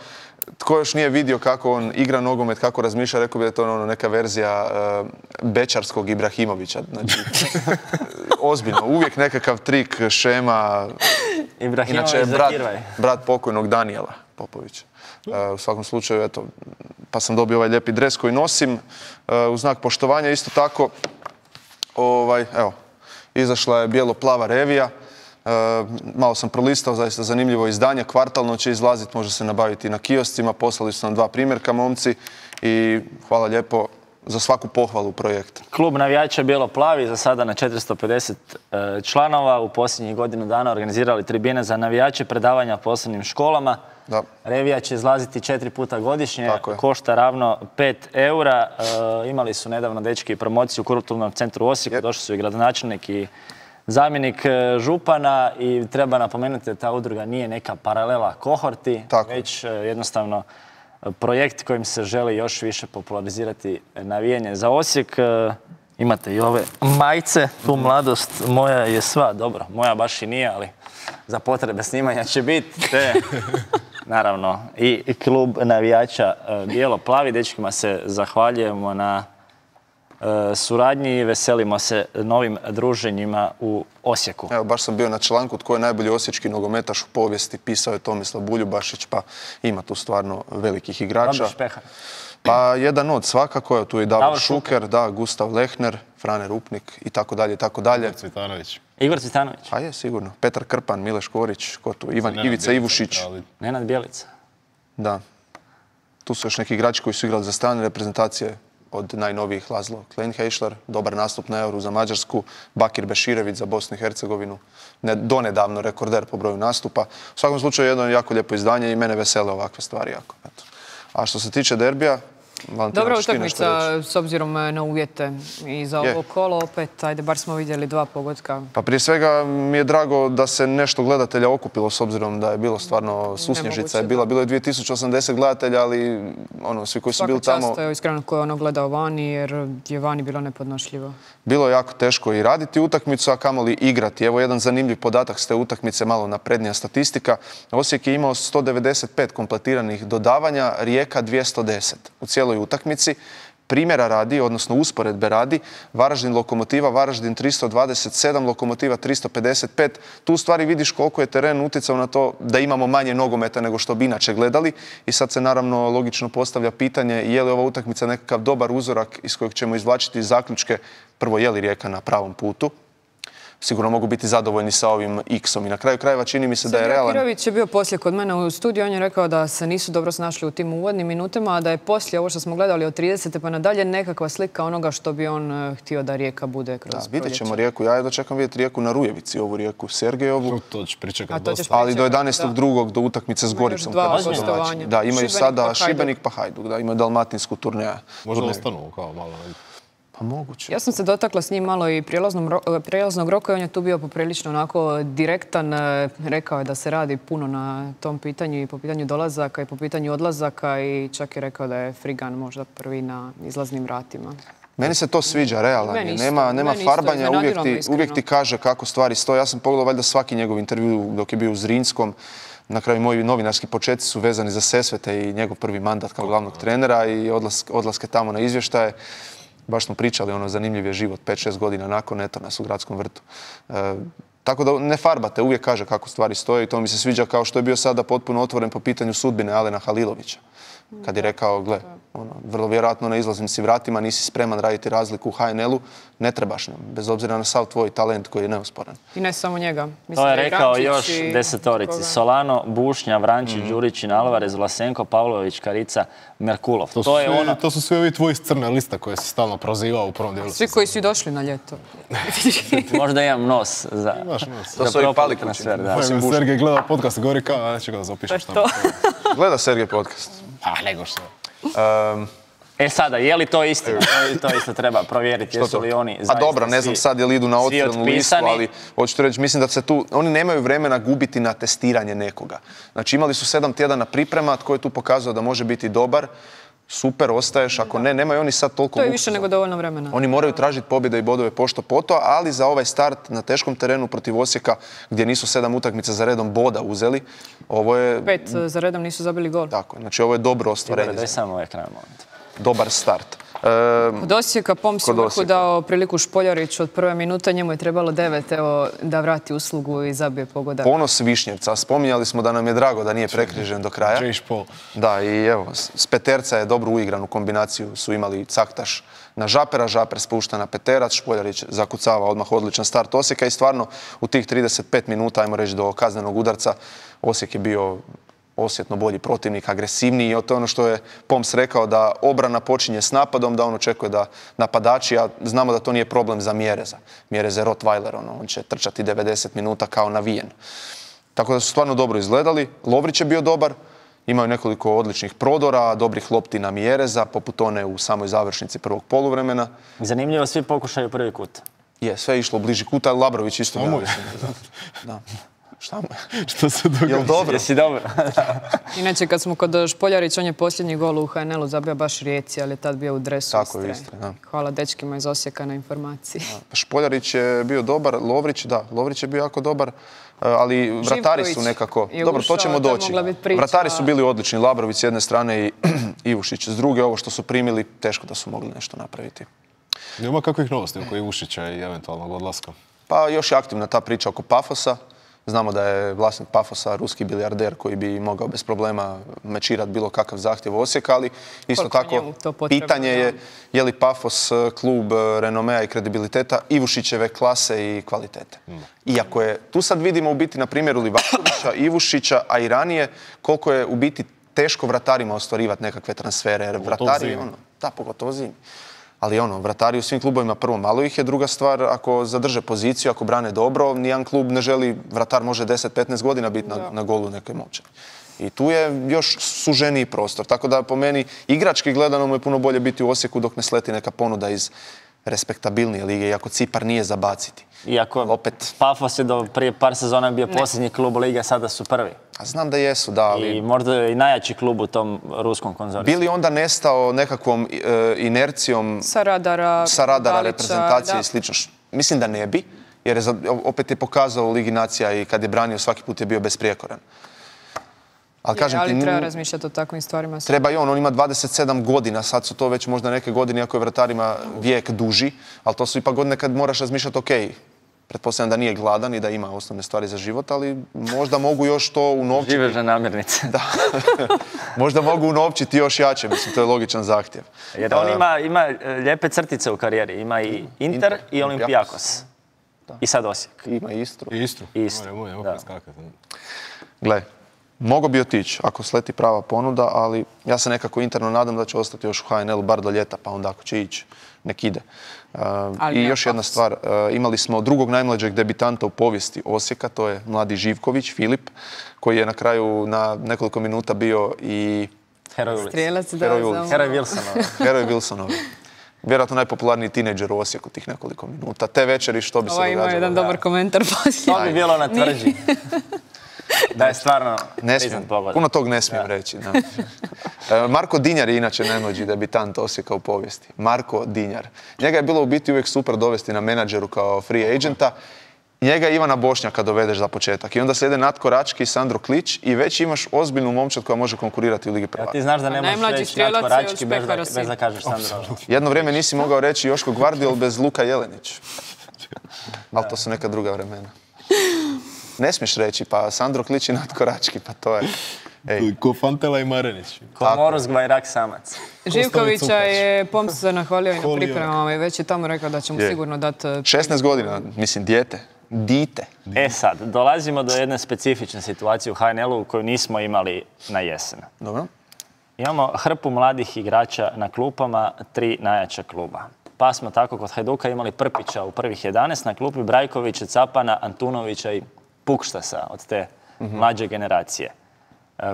tko još nije vidio kako on igra nogomet, kako razmišlja, rekao bi da je to neka verzija bečarskog Ibrahimovića. Znači, ozbiljno, uvijek nekakav trik, šema. Inače je brat pokojnog Danijela Popovića. U svakom slučaju, eto, pa sam dobio ovaj lijepi dres koji nosim. U znak poštovanja isto tako, evo, izašla je bijelo-plava revija. Malo sam prolistao, zaista zanimljivo izdanje. Kvartalno će izlaziti, može se nabaviti na kioscima. Poslali su nam 2 primjerka, momci. I hvala lijepo, za svaku pohvalu projekt. Klub navijača Bijelo-plavi za sada na 450 članova. U posljednjih godinu dana organizirali tribine za navijače, predavanja posebnim školama. Da. Revija će izlaziti 4 puta godišnje, košta ravno 5 eura. Imali su nedavno dečki promociju u Kulturnom centru Osijeku, došli su i gradonačelnik i zamjenik župana i treba napomenuti da ta udruga nije neka paralela kohorti, već jednostavno projekt kojim se želi još više popularizirati navijanje za Osijek. Imate i ove majice, tu mladost moja je sva, dobro, moja baš i nije, ali za potrebe snimanja će biti. Naravno, i klub navijača Bijelo-plavi. Dečkima se zahvaljujemo na suradnji i veselimo se novim druženjima u Osijeku. Evo, baš sam bio na članku tko je najbolji osječki nogometaš u povijesti, pisao je Tomislav Buljubašić, pa ima tu stvarno velikih igrača. Dobar špehar. Pa jedan od svakako, tu je Davor Šuker, da, Gustav Lehner, Frane Rupnik i tako dalje, i tako dalje. Igor Cvitanović. Igor Cvitanović. Pa je, sigurno. Petar Krpan, Mileš Korić, ko tu, Ivica Ivušić. Nenad Bjelica. Da. Tu su još neki igrači koji su igrali za strane reprezentacije, od najnovijih Laszlo Kleinheischler, dobar nastup na Euru za Mađarsku, Bakir Beširević za Bosnu i Hercegovinu, donedavno rekorder po broju nastupa. U svakom slučaju jedno jako lijepo izdanje i mene vesele ovakve stvari jako. Eto. A što se tiče derbija, dobra utakmica s obzirom na uvjete i za ovo kolo opet, ajde, bar smo vidjeli 2 pogotka. Pa prije svega mi je drago da se nešto gledatelja okupilo s obzirom da je bilo stvarno susnježica. Bilo je 2080 gledatelja, ali svi koji su bili tamo... Svaka čast, iskreno, ko je gledao vani, jer je vani bilo nepodnošljivo. Bilo je jako teško i raditi utakmicu, a kamoli igrati. Evo jedan zanimljiv podatak s te utakmice, malo naprednija statistika. Osijek je imao 195 kompletiranih dodavanja, Rijeka 210 u cijeloj utakmici. Primjera radi, odnosno usporedbe radi, Varaždin Lokomotiva, Varaždin 327, Lokomotiva 355. Tu u stvari vidiš koliko je teren utjecao na to da imamo manje nogometa nego što bi inače gledali. I sad se naravno logično postavlja pitanje je li ova utakmica nekakav dobar uzorak iz kojeg ćemo izvlačiti zaključke. Prvo, je li Rijeka na pravom putu? Sigurno mogu biti zadovoljni sa ovim X-om. I na kraju krajeva čini mi se da je realan... Kirović je bio poslije kod mene u studiju. On je rekao da se nisu dobro snašli u tim uvodnim minutama, a da je poslije ovo što smo gledali od 30. pa nadalje nekakva slika onoga što bi on htio da Rijeka bude kroz proljeće. Vidjet ćemo Rijeku. Ja jedno čekam vidjeti Rijeku na Rujevici, ovu Rijeku Sergejovu. To ćeš pričekati dosta. Ali do 11.2. do utakmice s Goricom. Da, imaju sada Šibenik pa Hajduk. Da, imaju dalmatinsku turneja. Možda ostanu kao malo... Moguće. Ja sam se dotakla s njim malo i prijelaznog roka i on je tu bio poprilično onako direktan. Rekao je da se radi puno na tom pitanju i po pitanju dolazaka i po pitanju odlazaka i čak je rekao da je Frigan možda prvi na izlaznim vratima. Meni se to sviđa, realno. Nema farbanja, uvijek ti kaže kako stvari stoje. Ja sam pogledao valjda svaki njegov intervju dok je bio u Zrinskom. Na kraju moji novinarski početci su vezani za Sesvete i njegov prvi mandat kao glavnog trenera i odlaske tamo na izvještaje. Baš smo pričali, zanimljiv je život, 5-6 godina nakon, eto nas u Gradskom vrtu. Tako da ne farbate, uvijek kaže kako stvari stoje i to mi se sviđa kao što je bio sada potpuno otvoren po pitanju sudbine Alena Halilovića. Kad je rekao, gle, vrlo vjerojatno na izlaznim si vratima, nisi spreman raditi razliku u HNL-u, ne trebaš nam, bez obzira na sav tvoj talent koji je neosporan. I ne samo njega. To je rekao još desetorici. Solano, Bušnja, Vrančić, Đurićin, Alvarez, Vlasenko, Pavlović, Karica, Merkulov. To su svi ovi tvoji s crne liste koje si stalno prozivao u prvom dijelu. Svi koji su došli na ljeto. Možda imam nos za propali transfer. Sergej gleda podcast i govori kao, neće ga da zapišeš tamo. Gleda Sergej podcast. Nego što. Sada, je li to istina? To isto treba provjeriti. Jesu li oni zaista dobro, ne znam sad je li idu na otvorenu listu, ali hoću reći, mislim da se tu, oni nemaju vremena gubiti na testiranje nekoga. Znači imali su 7 tjedana priprema, tko je tu pokazao da može biti dobar, super, ostaješ, ako ne, nemaju oni sad toliko... To je više nego dovoljno vremena. Oni moraju tražiti pobjede i bodove pošto poto, ali za ovaj start na teškom terenu protiv Osijeka, gdje nisu 7 utakmica za redom boda uzeli, ovo je... 5 za redom nisu zabili gol. Tako, znači ovo je dobro ostvarenje. Daj samo ovaj kraj moment. Dobar start. Od Osijeka Poms je vrhu dao priliku Špoljariću od prve minute, njemu je trebalo 9 da vrati uslugu i zabije pogodak. Ponos Višnjevca, spominjali smo da nam je drago da nije prekrižen do kraja. Da, i evo, s Peterca je dobru uigranu kombinaciju su imali Caktaš na Žapera, Žaper spušta na Peterac, Špoljarić zakucava odmah odličan start Osijeka i stvarno u tih 35 minuta, ajmo reći do kaznenog udarca, Osijek je bio osjetno bolji protivnik, agresivniji. I to je ono što je Poms rekao, da obrana počinje s napadom, da on očekuje da napadači, a znamo da to nije problem za Mjereza. Mjerez je Rottweiler, on će trčati 90 minuta kao navijen. Tako da su stvarno dobro izgledali. Lovrić je bio dobar, imaju nekoliko odličnih prodora, dobrih lopti na Mjereza, poput one u samoj završnici prvog poluvremena. Zanimljivo, svi pokušaju prvi kut. Je, sve je išlo u bliži kut, ali Labrović isto bio. Da. Šta mu je? Što se događa? Jel dobro? Jesi dobro? Inače, kad smo kod Špoljarić, on je posljednji gol u HNL-u zabio baš Rijeci, ali je tad bio u dresu Tako Istre. je, Istre, da. Hvala dečkima iz Osijeka na informaciji. Špoljarić je bio dobar, Lovrić je bio jako dobar, ali vratari su nekako... Dobro, to ćemo doći. Vratari su bili odlični, Labrović s jedne strane i Ivušić s druge. Ovo što su primili, teško da su mogli nešto napraviti. Nema kakvih novosti oko Ivušića i eventualnog odlaska? Pa još je aktivna ta priča oko Pafosa. Znamo da je vlasnik Pafosa ruski bilijarder koji bi mogao bez problema mečirati bilo kakav zahtjev Osijeka, ali isto tako pitanje je li Pafos klub renomea i kredibiliteta Ivušićeve klase i kvalitete. Iako je, tu sad vidimo u biti na primjeru Livakovića, Ivušića, a i ranije, koliko je u biti teško vratarima ostvarivati nekakve transfere. Jer vratari, pogotovo zimi. Ali vratari u svim klubovima, prvo malo ih je, druga stvar, ako zadrže poziciju, ako brane dobro, nijedan klub ne želi, vratar može 10-15 godina biti na golu neke momčadi. I tu je još suženiji prostor. Tako da po meni igrački gledano mu je puno bolje biti u Osijeku dok ne sleti neka ponuda iz respektabilnije lige, iako Cipar nije za baciti. Iako opet Pafos je do prije par sezona bio posljednji klub lige, sada su prvi. A znam da jesu, da. Ali... I možda i najjači klub u tom ruskom konzorciju. Bili onda nestao nekakvom inercijom sa radara reprezentacije i slično? Mislim da ne bi, jer je, opet je pokazao u Ligi nacija i kad je branio svaki put je bio besprijekoran. Ali treba razmišljati o takvim stvarima. Treba i on ima 27 godina, sad su to već možda neke godine, iako je vratarima vijek duži, ali to su ipak godine kad moraš razmišljati, ok, pretpostavljam da nije gladan i da ima osnovne stvari za život, ali možda mogu još to unovčiti. Živežne namirnice. Da. Možda mogu unovčiti još jače, mislim, to je logičan zahtjev. Jer on ima lijepe crtice u karijeri, ima i Inter i Olimpijakos. I sad Osijek. Ima i Istru. I Istru. Gle, mogo bi otići ako sleti prava ponuda, ali ja se nekako interno nadam da će ostati još u HNL-u bar do ljeta, pa onda ako će ići, nek ide. I još jedna stvar, imali smo drugog najmlađeg debitanta u povijesti Osijeka, to je mladi Živković, Filip, koji je na kraju na nekoliko minuta bio i Heroj Wilsonov. Vjerojatno najpopularniji tinejdžer u Osijeku tih nekoliko minuta. Te večeri što bi se događalo. Ima jedan dobar komentar poslije. To bi bilo na tvrđi. Da je stvarno priznat pogodak. Puno tog ne smijem reći. Marko Dinjar je inače najmlađi debitant Osijeka u povijesti. Marko Dinjar. Njega je bilo u biti uvijek super dovesti na menadžeru kao free agenta. Njega i Ivana Bošnjaka dovedeš za početak. I onda slijede Natko Rački i Sandro Klić i već imaš ozbiljnu momčad koja može konkurirati u Ligi prvaka. Ti znaš da ne možeš reći Natko Rački bez da kažeš Sandro. Jedno vrijeme nisi mogao reći Joško Gvardiol bez Luka Jelenić. Ali to su neka druga vremena. Ne smiješ reći, pa Sandro Klić i Natko Rački, pa to je... Ko Fantela i Marenić. Ko Moros Gvajrak Samac. Živkovića je Poms se nahvalio i na pripremama i već je tamo rekao da će mu sigurno dati... 16 godina, mislim, dite. Sad, dolazimo do jedne specifične situacije u HNL-u koju nismo imali na jesen. Dobro. Imamo hrpu mladih igrača na klupama, 3 najjača kluba. Pa smo tako kod Hajduka imali Prpića u prvih 11 na klupi, Brajkovića, Capana, Antunovića i Pukštasa od te mlađe generacije.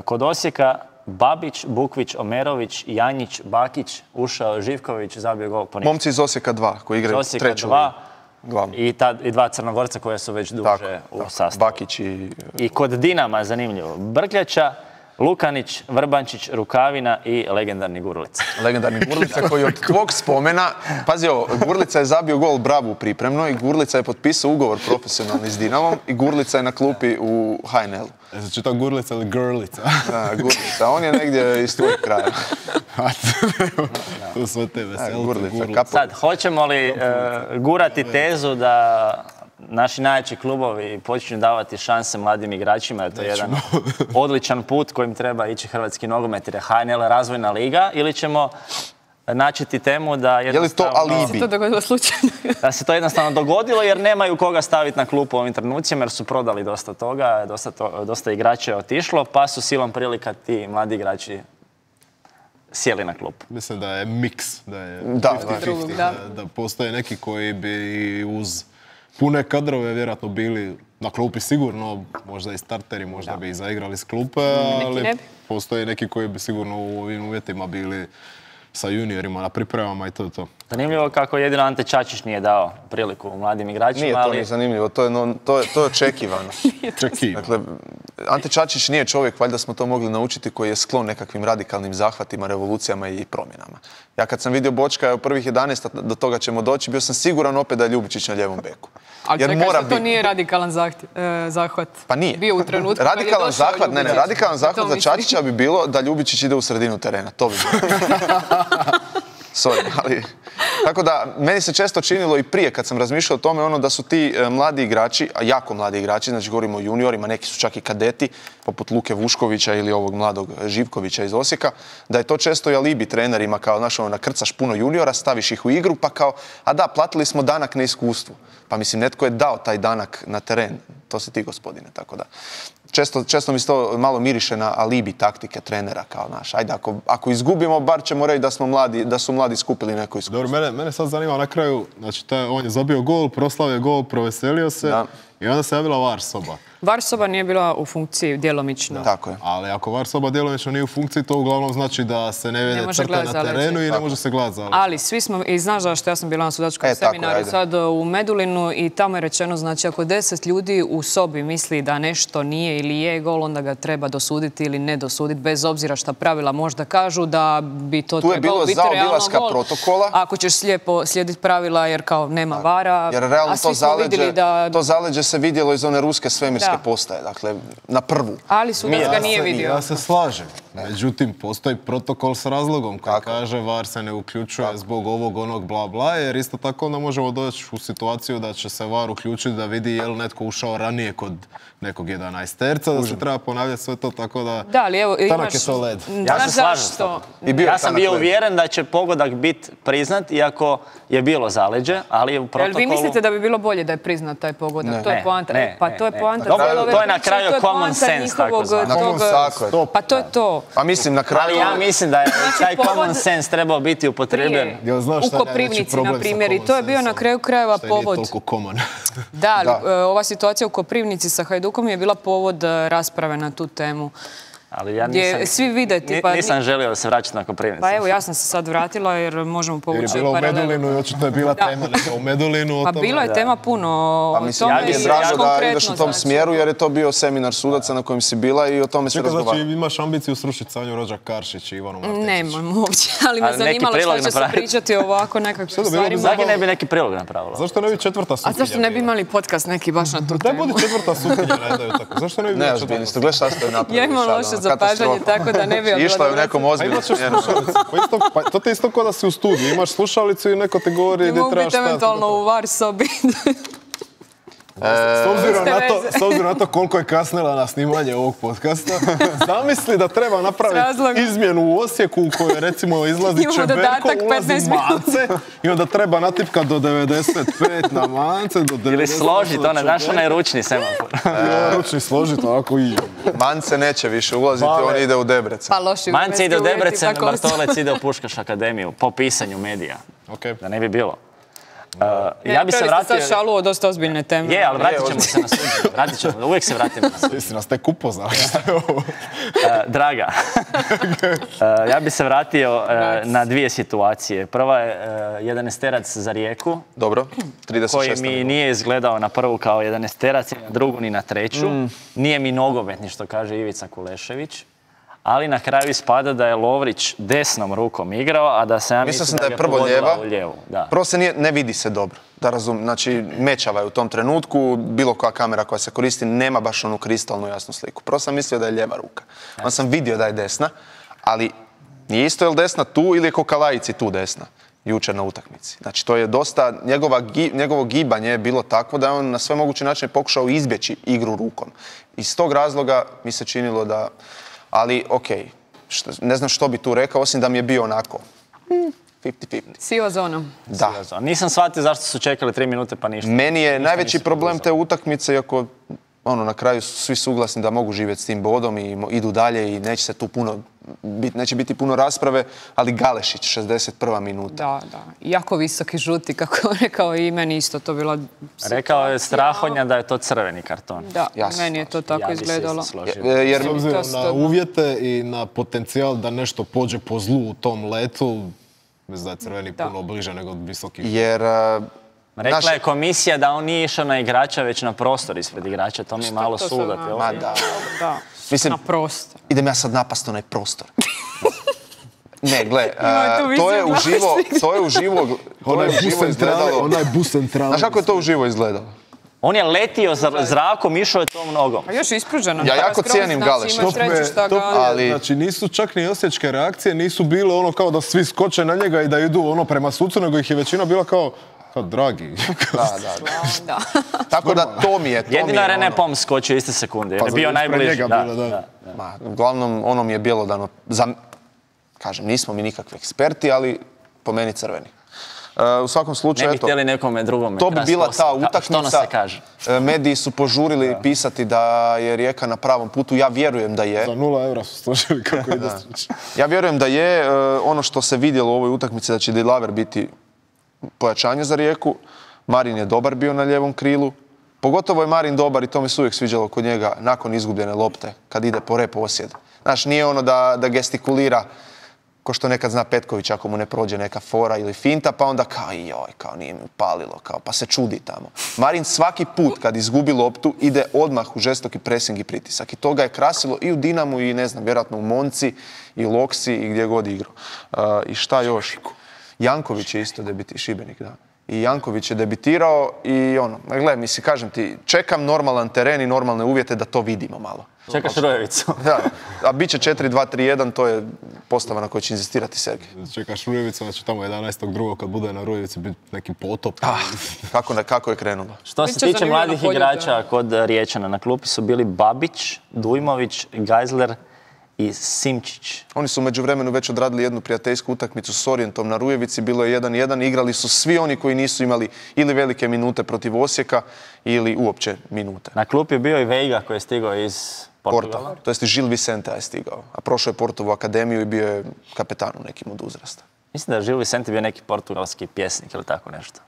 Kod Osijeka Babić, Bukvić, Omerović, Janjić, Bakić, ušao Živković, zabio gol po ništa. Momci iz Osijeka 2 koji igraju treću ligu. I 2 Crnogorca koje su već duže u sastavu. Bakić I kod Dinama, zanimljivo, Brkljača, Lukanić, Vrbančić, Rukavina i legendarni Gurlica. Legendarni Gurlica koji od tvog spomena, pazi ovo, Gurlica je zabio gol Bravu pripremno i Gurlica je potpisao ugovor profesionalni s Dinamom i Gurlica je na klupi u HNL-u. Znači to Gurlica ili Grlica? Da, Gurlica. On je negdje iz tvojeg kraja. To sve te veselite. Gurlica. Sad, hoćemo li gurati tezu da naši najjači klubovi počinju davati šanse mladim igračima, jer to je jedan odličan put kojim treba ići hrvatski nogomet, jer je HNL razvojna liga, ili ćemo načeti temu da Je li to alibi? Se to dogodilo slučajno? Da se to jednostavno dogodilo jer nemaju koga staviti na klupu u ovim trenucima jer su prodali dosta toga, dosta igrača je otišlo, pa su silom prilika ti mladi igrači sjeli na klupu. Mislim da je miks, da je Da, 50-50, da postoje neki koji bi uz pune kadrove vjerojatno bili na klupi sigurno, možda i starteri, možda bi i zaigrali s klupe, ali postoje neki koji bi sigurno u ovim uvjetima bili sa juniorima na pripremama i to je to. Zanimljivo kako jedino Ante Čačić nije dao priliku mladim igračima, Nije to ni zanimljivo, to je očekivano. Dakle, Ante Čačić nije čovjek, valjda smo to mogli naučiti, koji je sklon nekakvim radikalnim zahvatima, revolucijama i promjenama. Ja kad sam vidio Bočka u prvih 11, do toga ćemo doći, bio sam siguran opet da je Ljubičić na ljevom beku. Ali čekaj, što to nije radikalan zahvat? Pa nije. Bio u trenutku radikalan zahvat, ne, radikalan zahvat za Čačića bi bilo da Ljubičić ide u sredinu terena. To bi bilo. Sorry, ali... Tako da, meni se često činilo i prije kad sam razmišljao o tome da su ti mladi igrači, a jako mladi igrači, znači govorimo o juniorima, neki su čak i kadeti, poput Luke Vuškovića ili ovog mladog Živkovića iz Osijeka, da je to često i alibi trenerima kao, nakrcaš puno juniora, staviš ih u igru, pa kao, a da, platili smo danak na iskustvu. Pa mislim, netko je dao taj danak na teren. To si ti, gospodine, tako da. Često mi se to malo miriše na alibi taktike trenera kao naš. Ajde, ako izgubimo, bar ćemo reći da su mladi skupili neko iskustvo. Dobro, mene sad zanima na kraju, znači on je zabio gol, proslavio gol, proveselio se i onda se javila VAR soba. VAR soba nije bila u funkciji djelomično. Tako je. Ali ako VAR soba djelomično nije u funkciji, to uglavnom znači da se ne vede crta na terenu i ne može se gledati zaleđe. Ali svi smo, i znaš zašto, ja sam bila na sudačkom seminaru sad u Medulinu i tamo je rečeno, znači ako 10 ljudi u sobi misli da nešto nije ili je gol, onda ga treba dosuditi ili ne dosuditi, bez obzira šta pravila možda kažu da bi to trebalo biti realno gol. Protokola. Ako ćeš slijepo slijediti pravila jer kao nema VAR-a, jer realno a svi smo vidjeli da... To zaleđe se vidjelo iz one ruske svemirske postaje, dakle, na prvu. Ali sudac ga nije vidio. Ja se slažem. Međutim, postoji protokol s razlogom koji kaže VAR se ne uključuje zbog ovog, onog, bla, bla, jer isto tako onda možemo doći u situaciju da će se VAR uključiti da vidi je li netko ušao ranije kod nekog 11-terca, da se treba ponavljati sve to, tako da... Da, ali evo, tanak je to led. Ja se slažem s tobom. Ja sam bio uvjeren da će pogodak biti priznat, iako je bilo zaleđe, ali u protokolu... Vi mislite da bi bilo bolje da je priznat taj pogodak? To je poanta. Pa to je poanta. To je na kraju common sense, tako zvano. Pa to je to. Pa mislim na kraju... Ali ja mislim da je taj common sense trebao biti upotrebljen. U Koprivnici, na primjer. I to je bio na kraju krajeva povod. Što je nije toliko common. Da, ali ova situacija u Koprivnici sa Hajdukom je bila povod rasprave na tu temu. Ali ja nisam želio da se vraćati na Koprivnicu. Pa evo, ja sam se sad vratila jer možemo povući paralelu. Jer je bilo u Medulinu i očito je bila tema u Medulinu. Pa bilo je tema puno o tome. Ja bih drago da ideš u tom smjeru jer je to bio seminar sudaca na kojem si bila i o tome se razgovara. Znači imaš ambiciju srušiti Sanju Rođak-Karšić i Ivanu Martičić? Nemam uopće, ali me zanimalo što će se pričati o ovako nekakvim stvarima. Zagi ne bi neki prilog napravila. Zašto ne bi četvrta sutkinja? A zašto ne bi imali podcast neki baš na tu temu? Daj budi četvrta sutkinja, ne daju tako. Zašto ne bi bila četvrta? Zapažanje, tako da ne bi obila. Išla je u nekom ozbiljnom smjeru. Pa to ti isto kao da si u studiju. Imaš slušalicu i neko te govori gdje trebaš stati. Mogu biti eventualno u VAR sobi. S obzirom na to koliko je kasnila na snimanje ovog podcasta, zamisli da treba napraviti izmjenu u Osijeku u kojoj recimo izlazi Čeberko, ulazi Mance i onda treba natipkati do 95 na Mance, do 90. Ili složiti, znaš onaj ručni semafor. Ručni složiti, ovako i... Mance neće više ulaziti, on ide u Debrecen. Mance ide u Debrecen, Bartolec ide u Puškaš akademiju, po pisanju medija. Da ne bi bilo. Ja bi se vratio... Sad šalu o dosta ozbiljne teme. Je, ali vratit ćemo se na suđenje. Uvijek se vratimo na suđenje. Jesi nas tek upoznali. Draga, ja bi se vratio na dvije situacije. Prva je 11-terac za Rijeku. Dobro, 36. Koji mi nije izgledao na prvu kao 11-terac, ni na drugu, ni na treću. Nije mi nogometni, što kaže Ivica Kulešević. Ali na kraju ispada da je Lovrić desnom rukom igrao, a da se ja mislim da je prvo lijeva. Prvo se ne vidi se dobro, da razumim. Znači, mečava je u tom trenutku, bilo koja kamera koja se koristi nema baš onu kristalnu jasnu sliku. Prvo sam mislio da je lijeva ruka. Onda sam vidio da je desna, ali nije isto je li desna tu ili je ko Kalajici tu desna, jučer na utakmici. Znači, to je dosta, njegovo gibanje je bilo takvo da je on na sve moguće načine pokušao izbjeći igru rukom. Iz tog razloga mi se činilo da... Ali, okej, ne znam što bi tu rekao, osim da mi je bio onako 50-50. Siva zona. Da. Nisam shvatio zašto su čekali 3 minute pa ništa. Meni je najveći problem te utakmice, iako na kraju su svi suglasni da mogu živjeti s tim bodom i idu dalje i neće se tu neće biti puno rasprave, ali Galešić, 61. minuta. Da. Jako visoki žuti, kako je rekao, i meni isto to bila... Rekao je Strahonja da je to crveni karton. Da, meni je to tako izgledalo. Jer s obzirom na uvjete i na potencijal da nešto pođe po zlu u tom letu, mislim da je crveni puno bliže nego visoki. Jer... Rekla je komisija da on nije išao na igrača, već na prostor ispred igrača. To mi je malo sudat. Da, mislim, na prostor. Idem ja sad napast onaj prostor. Ne, gle, to je uživo izgledalo. Onaj bus centralni. Znaš kako je to uživo izgledalo? On je letio zrakom, išao je tom nogom. A još ispruženo. Ja jako cijenim Galešića. Ali... Znači nisu čak ni osječke reakcije, nisu bile ono kao da svi skoče na njega i da idu prema sucu, nego ih je većina bila kao dragi. Da. Tako da to mi je... Jedino je René Pom skočio iste sekunde, jer je bio najbliži. Uglavnom, ono mi je bjelodano. Kažem, nismo mi nikakvi eksperti, ali po meni crveni. U svakom slučaju, ne bi htjeli nekome drugome. To bi bila ta utakmica. Što nam se kaže? Mediji su požurili pisati da je Rijeka na pravom putu. Ja vjerujem da je. Za 0 eura su složili kako ide slučaj. Ja vjerujem da je. Ono što se vidjelo u ovoj utakmici da će Dilaver biti pojačanje za Rijeku. Marin je dobar bio na lijevom krilu. Pogotovo je Marin dobar i to mi se uvijek sviđalo kod njega nakon izgubljene lopte, kad ide po reposjed. Znaš, nije ono da gestikulira ko što nekad zna Petković ako mu ne prođe neka fora ili finta, pa onda kao nije mi upalilo, pa se čudi tamo. Marin svaki put kad izgubi loptu ide odmah u žestoki presing i pritisak. I to ga je krasilo i u Dinamu i ne znam, vjerojatno u Monci i u Loksi i gdje god igrao. I šta još? Janković je isto Šibenik, da. I Janković je debitirao i gle, mislim, kažem ti, čekam normalan teren i normalne uvjete da to vidimo malo. Čekaš Rujevicu. Da, a bit će 4-2-3-1, to je postava na kojoj će inzistirati Sergej. Čekaš Rujevicu, znači tamo 11.2. kad bude na Rujevici biti neki potop. Kako je krenulo? Što se tiče mladih igrača kod Riječana, na klupi su bili Babić, Dujmović, Geisler i Simčić. Oni su u međuvremenu već odradili jednu prijateljsku utakmicu s Orijentom na Rujevici, bilo je 1-1, igrali su svi oni koji nisu imali ili velike minute protiv Osijeka ili uopće minute. Na klupi je bio i Veiga koji je stigao iz Portugala. To jest i Gil Vicente je stigao, a prošao je Portovu akademiju i bio je kapetan u nekim od uzrasta. Mislim da je Gil Vicente bio neki portugalski pjesnik ili tako nešto.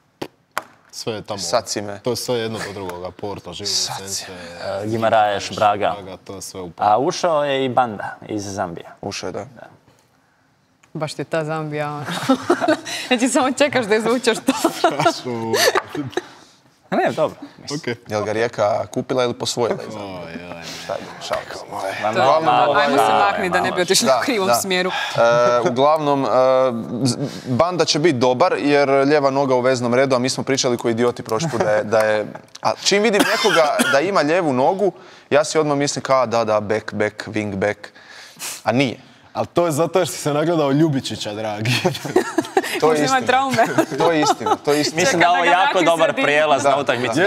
Sve je tamo. Sad si me. To je sve jedno do drugoga. Porto, Gil Vicente, Guimarães, Braga. To je sve A ušao je i Banda iz Zambije. Ušao je, da. Baš ti je ta Zambija. Znači samo čekaš da izvučeš to. Ne, dobro. Jel ga Rijeka kupila ili posvojila? Šta je, Ajmo se makni da ne bi otišli u krivom smjeru. Uglavnom, Banda će biti dobar jer lijeva noga u veznom redu, a mi smo pričali koji idioti prošli put da je... A čim vidim nekoga da ima lijevu nogu, ja si odmah mislim kao da, back, wing back, a nije. Ali to je zato jer si se nagledao Ljubičića, dragi. To je istina. Mislim da je ovo jako dobar prijelaz na utakmicu.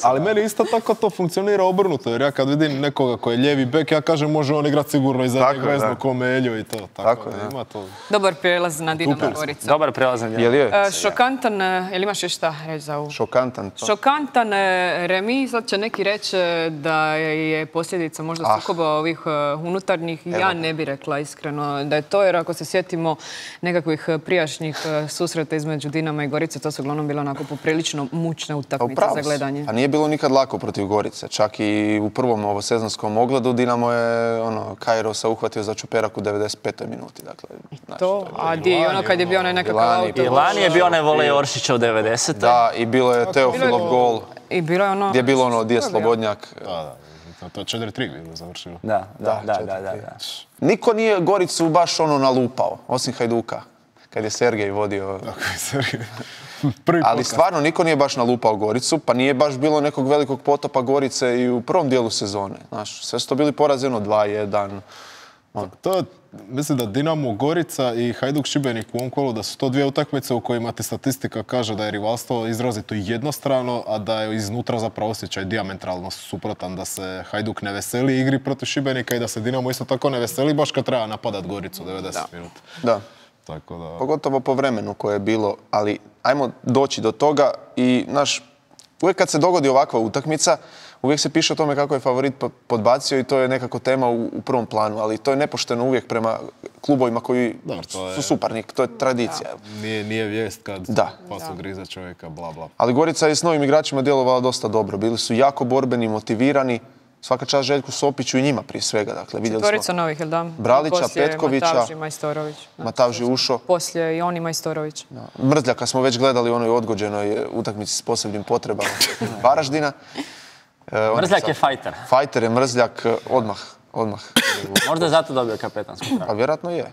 Ali meni isto tako to funkcionira obrnuto, jer ja kad vidim nekoga koji je lijevi bek, ja kažem može on igrati sigurno iza njeg vezno ko Meljo i to. Tako da ima to. Dobar prijelaz na Dinamo Gorica. Dobar prijelaz na Dinamo. Šokantan, jel imaš još šta reći za ovu? Šokantan remi, sad će neki reći da je posljedica možda sukoba ovih unutarnjih. Ja ne bi rekla iskreno da je to, jer ako se sjetimo nekakvih prijašnjih susreta između Dinama i Gorice, to su uglavnom bilo onako poprilično mučne utakmice za gledanje. A nije bilo nikad lako protiv Gorice. Čak i u prvom ovosezonskom ogledu Dinamo je Kairosa uhvatio za čuperak u 95. minuti. To, a di ono kad je bio onaj nekakav auto. I lani je bio onaj volej Oršića u 90. Da, i bilo je Teofilov gol. I bilo je ono... Gdje je bilo ono, gdje je Slobodnjak. To je 4-3 bilo završilo. Da. Niko nije Goricu baš nalupao, osim Hajduka. Kad je Sergej vodio. Ali stvarno niko nije baš nalupao Goricu, pa nije baš bilo nekog velikog potopa Gorice i u prvom dijelu sezone. Znaš, sve su to bili porazi 2-1. Mislim da Dinamo Gorica i Hajduk Šibenik u ovom kolu da su to dvije utakmice u kojima ti statistika kaže da je rivalstvo izrazito jednostrano, a da je iznutra zapravo osjećaj dijametralno suprotan, da se Hajduk ne veseli igri protiv Šibenika i da se Dinamo isto tako ne veseli baš kad treba napadat Goricu 90 minuta. Da. Tako da... Pogotovo po vremenu koje je bilo, ali ajmo doći do toga i uvijek kad se dogodi ovakva utakmica, uvijek se piše o tome kako je favorit podbacio i to je nekako tema u prvom planu, ali to je nepošteno uvijek prema klubovima koji su suparnik, to je tradicija. Nije vijest kad pasu griza čovjeka, bla bla. Ali Gorica je s novim igračima djelovala dosta dobro, bili su jako borbeni, motivirani, svaka čast Željku Sopiću i njima prije svega. Dakle, četvorica novih, jel da? Bralića, Petkovića, Matavži, Majstorović. Matavži ušo. Poslije i oni Majstorović. Mrzljaka smo već gledali u onoj odgođenoj utakmici s posebnim potrebama Varaždina. Mrzljak je fajter. Fajter je Mrzljak odmah. Možda je zato dobio kapetansku traku. Pa vjerojatno je.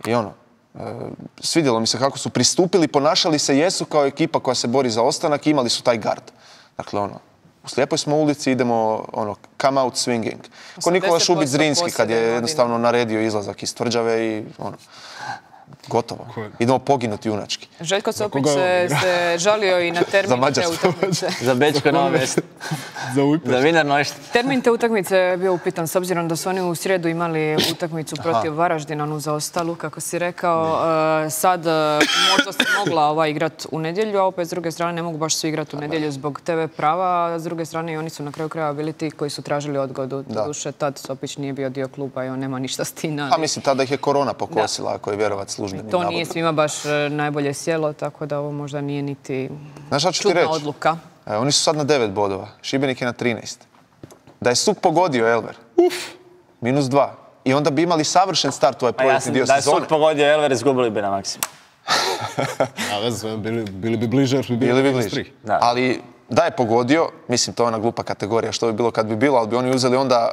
I svidjelo mi se kako su pristupili, ponašali se, jesu kao ekipa koja se bori za ostanak i imali su taj gard. Dakle, u slijepoj smo ulici, idemo come out swinging. Ko Nikola Šubić-Zrinski kad je jednostavno naredio izlazak iz tvrđave i gotovo. Idemo poginuti junački. Željko Sopić se žalio i na termin te utakmice. Za Bečko Novo Mesto. Za Wiener Neustadt. Termin te utakmice je bio upitan s obzirom da su oni u srijedu imali utakmicu protiv Varaždina, onu zaostalu, kako si rekao. Sad možda se mogla igrati u nedjelju, a opet s druge strane ne mogu baš svi igrati u nedjelju zbog TV prava, a s druge strane i oni su na kraju krajeva bili ti koji su tražili odgodu. Doduše, tad Sopić nije bio dio kluba i on nema ništa s tim. A mislim, tada ih je korona pokosila, ako je vjerovat službenim. To nije svima baš najbolje sjelo, tako da ovo možda nije niti čudna odluka. Oni su sad na 9 bodova, Šibenik je na 13. Da je Suk pogodio Elver, -2. I onda bi imali savršen start u ovaj projektni dio sezone. Da je Suk pogodio Elver, izgubili bi na maksimum. Bili bi bliže, bili bi bliže. Ali da je pogodio, mislim to je ona glupa kategorija što bi bilo kad bi bilo, ali bi oni uzeli onda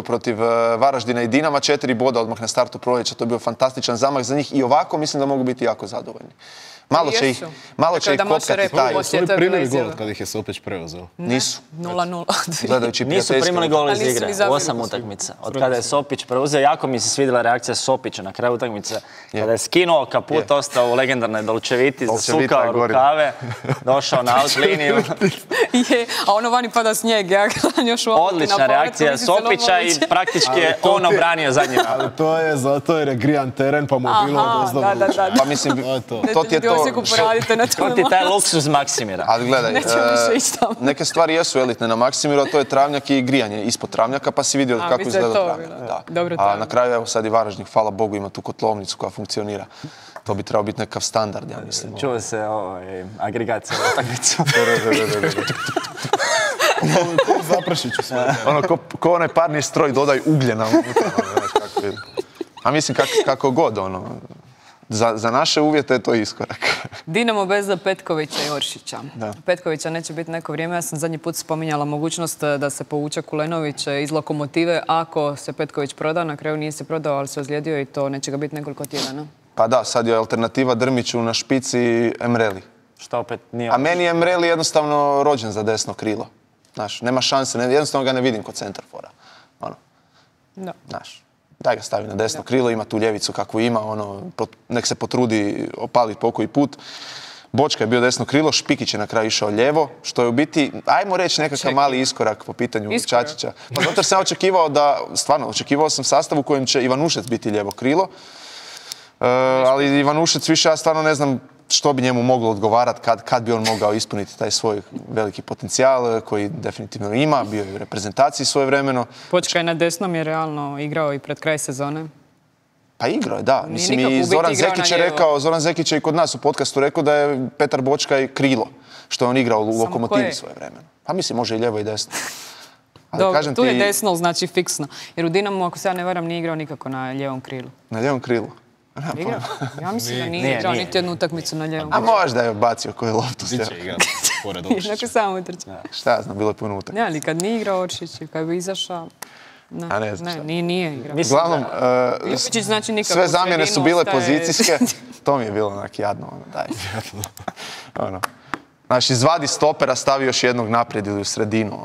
protiv Varaždina i Dinama 4 boda odmah na startu proljeća. To je bio fantastičan zamah za njih i ovako mislim da mogu biti jako zadovoljni. Malo će ih kopkati taj. Su li primili gol kad ih je Sopić preuzeo? Nisu. 0-0. Nisu primili gol iz igre. 8 utakmica. Od kada je Sopić preuzeo, jako mi se svidjela reakcija Sopića na kraju utakmice. Kada je skinuo kaput, ostao u legendarnoj Dolčeviti, zasukao rukave, došao na out liniju. A ono vani pada snijeg. Odlična reakcija Sopića i praktički je on obranio zadnji napad. To je zato jer je grijan teren pa mu je bilo dozvoljeno. Pa mislim, to ti je to. To ti taj luksuz Maksimira. Ali gledaj, neke stvari jesu elitne na Maksimiru, a to je travnjak i grijanje ispod travnjaka, pa si vidio kako izgleda travnjak. A na kraju, evo sad i Varaždin, hvala Bogu, ima tu kotlovnicu koja funkcionira. To bi trebao biti nekakav standard, ja mislim. Čuo se agregacija u utakmicu. Zaprašiću sve. Ko onaj parni stroj, dodaj ugljena unutra. A mislim kako god, za naše uvjete je to iskorak. Dinamo bez Petkovića i Oršića. Petkovića neće biti neko vrijeme. Ja sam zadnji put spominjala mogućnost da se povuče Kulenović iz Lokomotive ako se Petković proda. Na kraju nije se prodao, ali se ozlijedio i to neće ga biti nekoliko tjedana. Pa da, sad je alternativa Drmiću na špici Emreli. Što opet nije... A meni je Emreli jednostavno rođen za desno krilo. Znaš, nema šanse, jednostavno ga ne vidim kod centarfora. Znaš. Daj ga stavi na desno krilo, ima tu ljevicu kakvu ima, nek se potrudi opaliti pokoji put. Bočka je bio desno krilo, Špikić je na kraju išao lijevo, što je u biti, ajmo reći, nekakav mali iskorak po pitanju Čačića. Pa zato sam očekivao očekivao sam sastav u kojem će Ivanušec biti lijevo krilo, ali Ivanušec više, ja stvarno ne znam što bi njemu moglo odgovarati, kad bi on mogao ispuniti taj svoj veliki potencijal koji definitivno ima, bio je u reprezentaciji svojevremeno. Bočka je na desnom je realno igrao i pred kraj sezone. Pa igrao je, da. Mislim, i Zoran Zekić je i kod nas u podcastu rekao da je Petar Bočka i krilo, što je on igrao u Lokomotivi svojevremeno. Pa mislim, može i lijevo i desno. Dobro, tu je desno, znači fiksno. Jer u Dinamu, ako se ja ne varam, nije igrao nikako na lijevom krilu. Na lijevom krilu? Ja mislim da nije igrao niti jednu utakmicu na lijevom. A možda je bacio koju loptu. Biće igrati pored Oršića. Neko samo utrče. Šta ja znam, bilo je puno utakmica. Ne, ali kad nije igrao Oršić, kad bi izašao... Ne, nije igrao. Uglavnom, sve zamjene su bile pozicijske. To mi je bilo onak jadno. Znači, izvadi stopera, stavi još jednog naprijed ili u sredinu.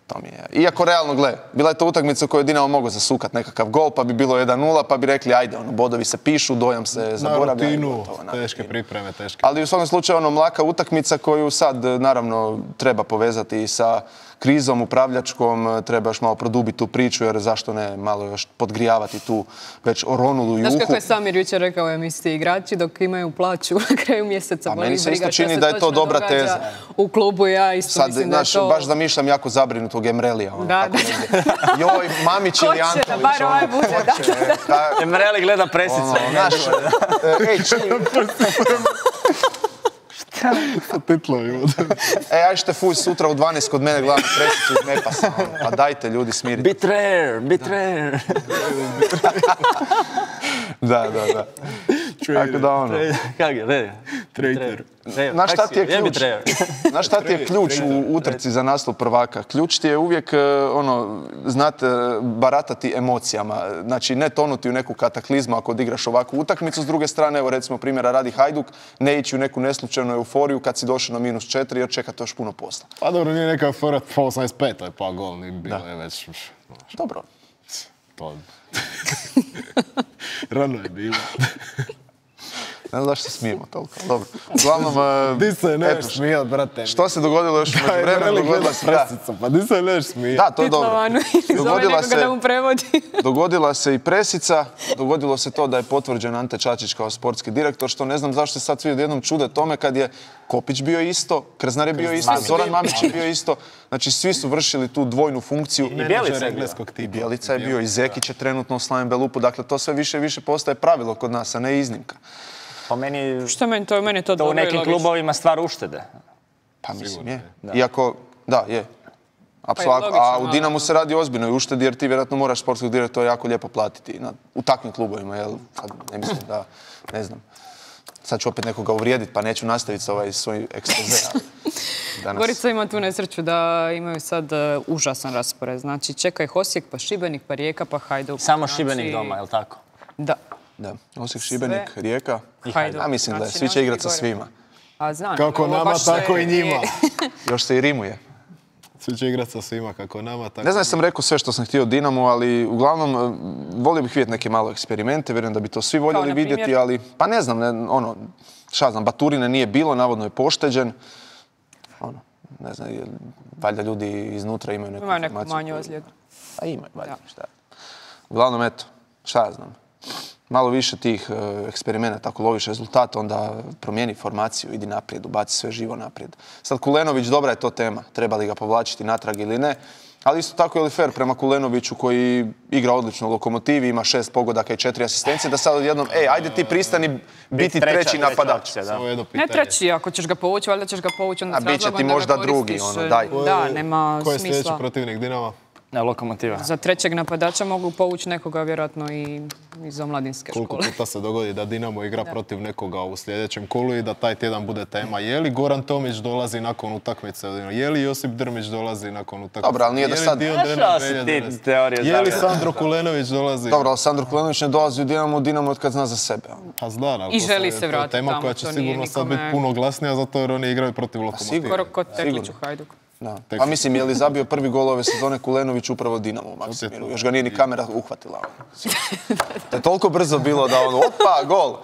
To mi je. Iako realno, gle, bila je to utakmica u kojoj je Dinamo mogao zasukati nekakav gol, pa bi bilo 1-0, pa bi rekli, ajde, bodovi se pišu, dojam se zaboravlja. Na rutinu, teške pripreme, teške. Ali u svakom slučaju, mlaka utakmica koju sad, naravno, treba povezati i sa krizom upravljačkom treba još malo produbiti tu priču, jer zašto ne malo još podgrijavati tu već oronulu juhu. Znaš kako je Samir jučer rekao u emisiji, igrači dok imaju plaću na kraju mjeseca. A meni se isto čini da je to dobra teza. U klubu ja isto mislim da je to... Baš zamišljam jako zabrinutog Emrelija. Da. Joj, Mamić ili Antolić. Ko će da bar ovaj bude, da. Emreli gleda presice. Ej, čini... Sa titlovi ovdje. Aj ćete fuj sutra u 12 kod mene gledam presicu iz Nepasa. Pa dajte ljudi smiriti. Betrayer. Da. Tako da ono. Kak je? Traitor. Znaš šta ti je ključ u utrci za naslov prvaka? Ključ ti je uvijek, znate, baratati emocijama. Znači, ne tonuti u neku kataklizmu ako odigraš ovakvu utakmicu. S druge strane, evo recimo primjera radi Hajduk, ne ići u neku neslučajnu euforiju kad si došao na -4 jer čekate još puno posla. Pa dobro, nije neka fora po 85. pa gol, nije bilo je već... Dobro. To... Rano je bilo. Ne znam zašto se smijemo toliko. Dobro. Uglavnom, Di se neš smijat, brate. Što se dogodilo još u međuvremenu? Dogodila se presica, pa di se neš smijat. Da, to je dobro. Dogodila se i presica, dogodilo se to da je potvrđen Ante Čačić kao sportski direktor, što ne znam zašto se sad svi odjednom čude tome kad je Kopić bio isto, Krznar je bio isto, Zoran Mamić je bio isto. Znači, svi su vršili tu dvojnu funkciju. I Bjelica je bio. I Bjelica je bio, i Zekić je trenutno u Slaven Belupu. Dakle, to sve više i više postaje pravilo kod nas, a ne iznimka. Po meni... Što meni to dobro u nekim klubovima stvar uštede. Pa mislim je. Iako, da, je. A u Dinamu se radi ozbiljno i uštedi jer ti vjerojatno moraš sportskog direktora jako lijepo platiti u takvim klubovima, jel? Ne mislim da, ne znam. Sad ću opet nekoga uvrijediti pa neću nastaviti sa ovaj svoj ekspoze. Gorica ima tu nesreću da imaju sad užasan raspored. Znači čeka ih Osijek, pa Šibenik, pa Rijeka, pa Hajduk. Samo Šibenik doma, je li tako? Da. Osijek, Šibenik, Rijeka. Hajduk. Ja mislim da je. Svi će igrati sa svima. A znam. Kako nama, tako i njima. Još se i rimuje. Svi će igrati sa svima, kako nama, tako... Ne znam, sam rekao sve što sam htio o Dinamu, ali uglavnom volio bih vidjeti neke malo eksperimente, vjerujem da bi to svi voljeli vidjeti, ali pa ne znam, šta znam, Baturine nije bilo, navodno je pošteđen. Ne znam, valjda ljudi iznutra imaju neku informaciju. Imaju neku manju ozljedu. Pa imaju, valjda, šta. Uglavnom, eto, šta ja znam. Malo više tih eksperimenata, ako loviš rezultat, onda promijeni formaciju, idi naprijed, ubaci sve živo naprijed. Sad Kulenović, dobra je to tema, treba li ga povlačiti natrag ili ne, ali isto tako je li fair prema Kulenoviću koji igra odlično u Lokomotivi, ima 6 pogodaka i 4 asistencije, da sad odjednom, ajde ti pristani biti treći napadač. Ne treći, ako ćeš ga povući, valjda ćeš ga povući onda s razlogom da ga koristiš. A bit će ti možda drugi, daj. Da, nema smisla. Ko je sljedeći protivnik Dinama? Lokomotiva. Za trećeg napadača mogu povući nekoga vjerojatno i iz omladinske škole. Koliko puta se dogodi da Dinamo igra protiv nekoga u sljedećem kolu i da taj tjedan bude tema. Je li Goran Tomić dolazi nakon utakmice? Je li Josip Drmić dolazi nakon utakmice? Dobro, ali nije da sad... Je li Sandro Kulenović dolazi? Dobro, ali Sandro Kulenović ne dolazi u Dinamo od kad zna za sebe. Pa zna, i želi se vratiti tamo. Tema koja će sigurno sad biti puno glasnija zato jer oni igraju protiv Lokomotive. Skoro kod Tekliću Hajduk. Pa mislim, je li zabio prvi gol ove sezone Kulenović upravo Dinamo u Maksimiru? Još ga nije ni kamera uhvatila. To je toliko brzo bilo da opa, gol!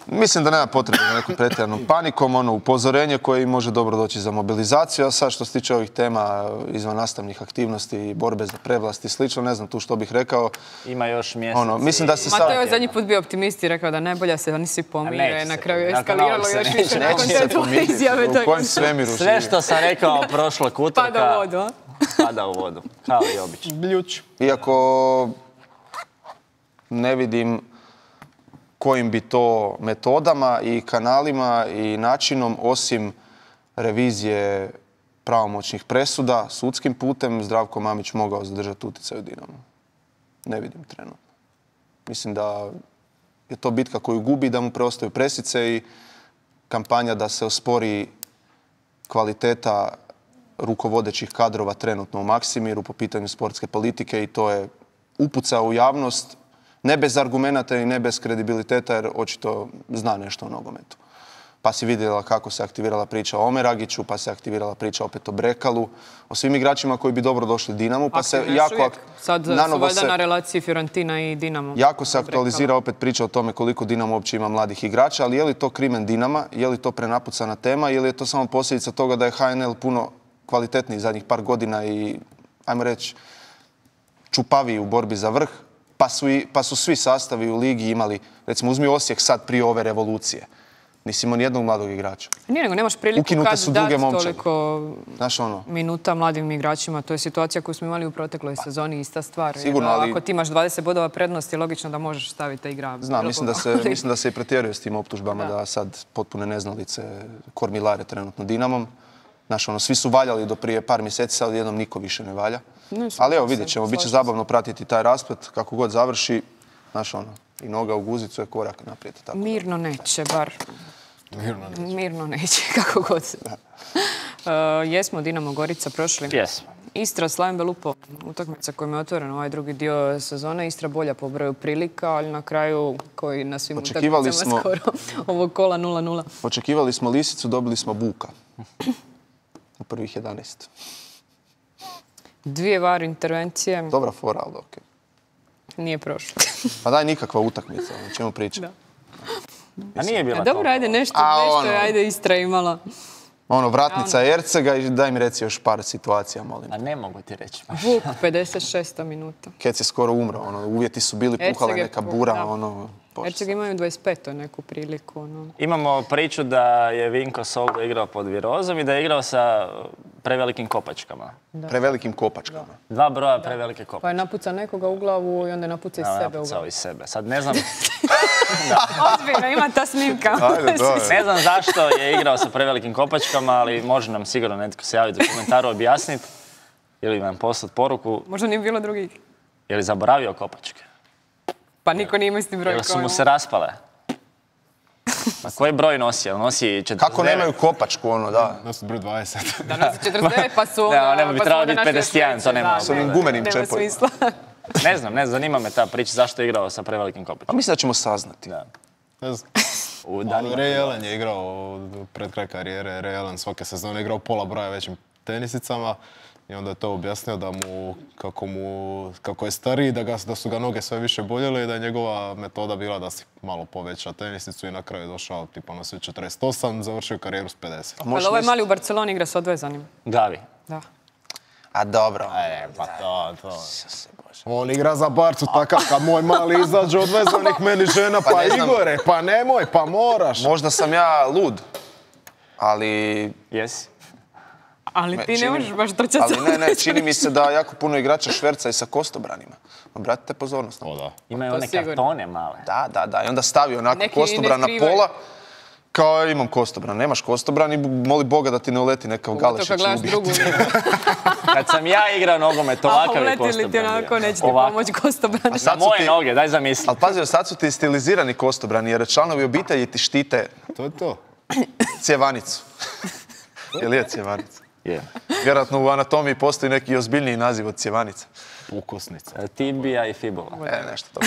Mislim da nema potrebe za nekom pretjeranom panikom, upozorenje koje im može dobro doći za mobilizaciju, a sad što se tiče ovih tema izvan nastavnih aktivnosti, borbe za prevlast i slično, ne znam tu što bih rekao. Ima još mjesec. Mislim da se sad... Mateo je zadnji put bio optimist i rekao da najbolje se oni svi pomire, na kraju je eskaliralo još više nakon te tvoje izjave. U kojem svemiru živi? Sve što sam rekao prošlog utrka... Pada u vodu, a? Pada u vodu, kao i obično. Bljuč. Iako ne vidim kojim bi to metodama i kanalima i načinom, osim revizije pravomoćnih presuda, sudskim putem, Zdravko Mamić mogao zadržati utjecaj u Dinamu. Ne vidim trenutno. Mislim da je to bitka koju gubi, da mu preostaju presice i kampanja da se ospori kvaliteta rukovodećih kadrova trenutno u Maksimiru po pitanju sportske politike i to je upucao u javnost, ne bez argumenata i ne bez kredibiliteta, jer očito zna nešto o nogometu. Pa si vidjela kako se aktivirala priča o Omeragiću, pa se aktivirala priča opet o Brekalu, o svim igračima koji bi dobro došli Dinamu, pa se jako... Sad su valjda na relaciji Fiorentina i Dinamo. Jako se aktualizira opet priča o tome koliko Dinamo uopće ima mladih igrača, ali je li to krimen Dinama, je li to prenapucana tema, ili je to samo posljedica toga da je HNL puno kvalitetniji zadnjih par godina i, ajmo reći, čupaviji u borbi za vrh, pa su svi sastavi u ligi imali, recimo uzmi Osijek sad prije ove revolucije. Nisi imao nijednog mladog igrača. Nije, nego nemaš priliku Ukinute su kad druge dati momčadi. toliko Znaš ono, minuta mladim igračima. To je situacija koju smo imali u protekloj sezoni, ista stvar. Sigurno, ali- Ako ti imaš 20 bodova prednosti, logično da možeš staviti te igra. znam, mislim da se i pretjeruje s tim optužbama da sad potpune neznalice kormilare trenutno Dinamom. Znaš, ono, svi su valjali do prije par mjeseci, sad jednom niko više ne valja. Ali evo, vidjet ćemo, bit će zabavno pratiti taj rasplet, kako god završi. Znaš, ono, i noga u guzicu je korak naprijed. Tako. Mirno neće, bar. Mirno Mirno neće, kako god se. Jesmo Dinamo Gorica prošli. Jesmo. Istra, Slaven Belupo, utakmica kojom je otvoren ovaj drugi dio sezone. Istra bolja po broju prilika, ali na kraju, koji na svim utakmicama skoro ovog kola 0-0. Očekivali smo lisicu, dobili smo buka. U prvih 11. 2 VAR intervencije, Dobra fora, ali okej. nije prošlo. Pa daj nikakva utakmica, o čemu pričam. A nije bila Dobro, ajde, nešto je, ajde, Istra imala. Ono, vratnica Ercega i daj mi reci još par situacija, molim. A ne mogu ti reći. Vuk, 56. minuta. Kec je skoro umro, ono, uvjeti su bili, puhala je neka bura, ono... Erceg imaju 25. neku priliku. Ono. Imamo priču da je Vinko Soldo igrao pod Virozom i da je igrao sa prevelikim kopačkama. Prevelikim kopačkama. 2 broja prevelike kopačke. Pa je napuca nekoga u glavu i onda je napuca iz sebe u glavu. Napucao iz sebe. Sad ne znam... Ozbiljno, ima ta snimka. Ajde, Ne znam zašto je igrao sa prevelikim kopačkama, ali može nam sigurno netko se javiti u komentaru objasniti ili vam poslati poruku. Možda nije bilo drugih. Je li zaboravio kopačke? Pa niko nije imao isti broj. Ili su mu se raspale? A koji broj nosi? Jel nosi 49? Kako nemaju kopačku, ono, da. Nosi broj 20. Da nosi 49, pa su onda... Ne bi trebalo biti 51, to nema. S onim gumenim Nema čepovima. smisla. Ne znam, zanima me ta priča zašto je igrao sa prevelikim Pa kopačkama. mislim da ćemo saznati. Da. Ne znam. U danima. Ray Allen je igrao pred kraj karijere. Ray Allen svake sezone igrao pola broja većim tenisicama. I onda je to objasnio da kako je stariji, da su ga noge sve više boljele i da je njegova metoda bila da si malo poveća tenisicu i na kraju je došao tipa na sve 48, završio karijeru s 50. Ali ovaj mali u Barceloni igra s odvezanim. Gavi. Da. A dobro. Pa to. On igra za Barcu takav kad moj mali izađe odvezanih meni žena, pa ne znam. Igore, pa nemoj, pa moraš. Možda sam ja lud, ali... Jesi? Ali ti ne možeš baš trčati. Ali ne, čini mi se da jako puno igrača šverca i sa kostobranima. Obratite pozornost. O da. Imaju To one sigurno. kartone male. Da. I onda stavi onako Neki kostobran ne na skrivaju. pola. Kao imam kostobran. Nemaš kostobran i moli Boga da ti ne uleti nekav To Galešić kad gledaš ubije. drugu. Kad sam ja igrao nogomet, A ovakav je uleti li kostobran ti bio. onako, neće ti Ovako. pomoći kostobrani. Za Sad su moje ti- noge, daj zamisli. Ali pazi, sad su ti stilizirani kostobrani jer članovi obitelji ti štite To je to. cjevanicu. Jel je cjevanica? Je. Vjerojatno u anatomiji postoji neki ozbiljniji naziv od cjevanica. Ukosnica. Tibija i fibula. Nešto to.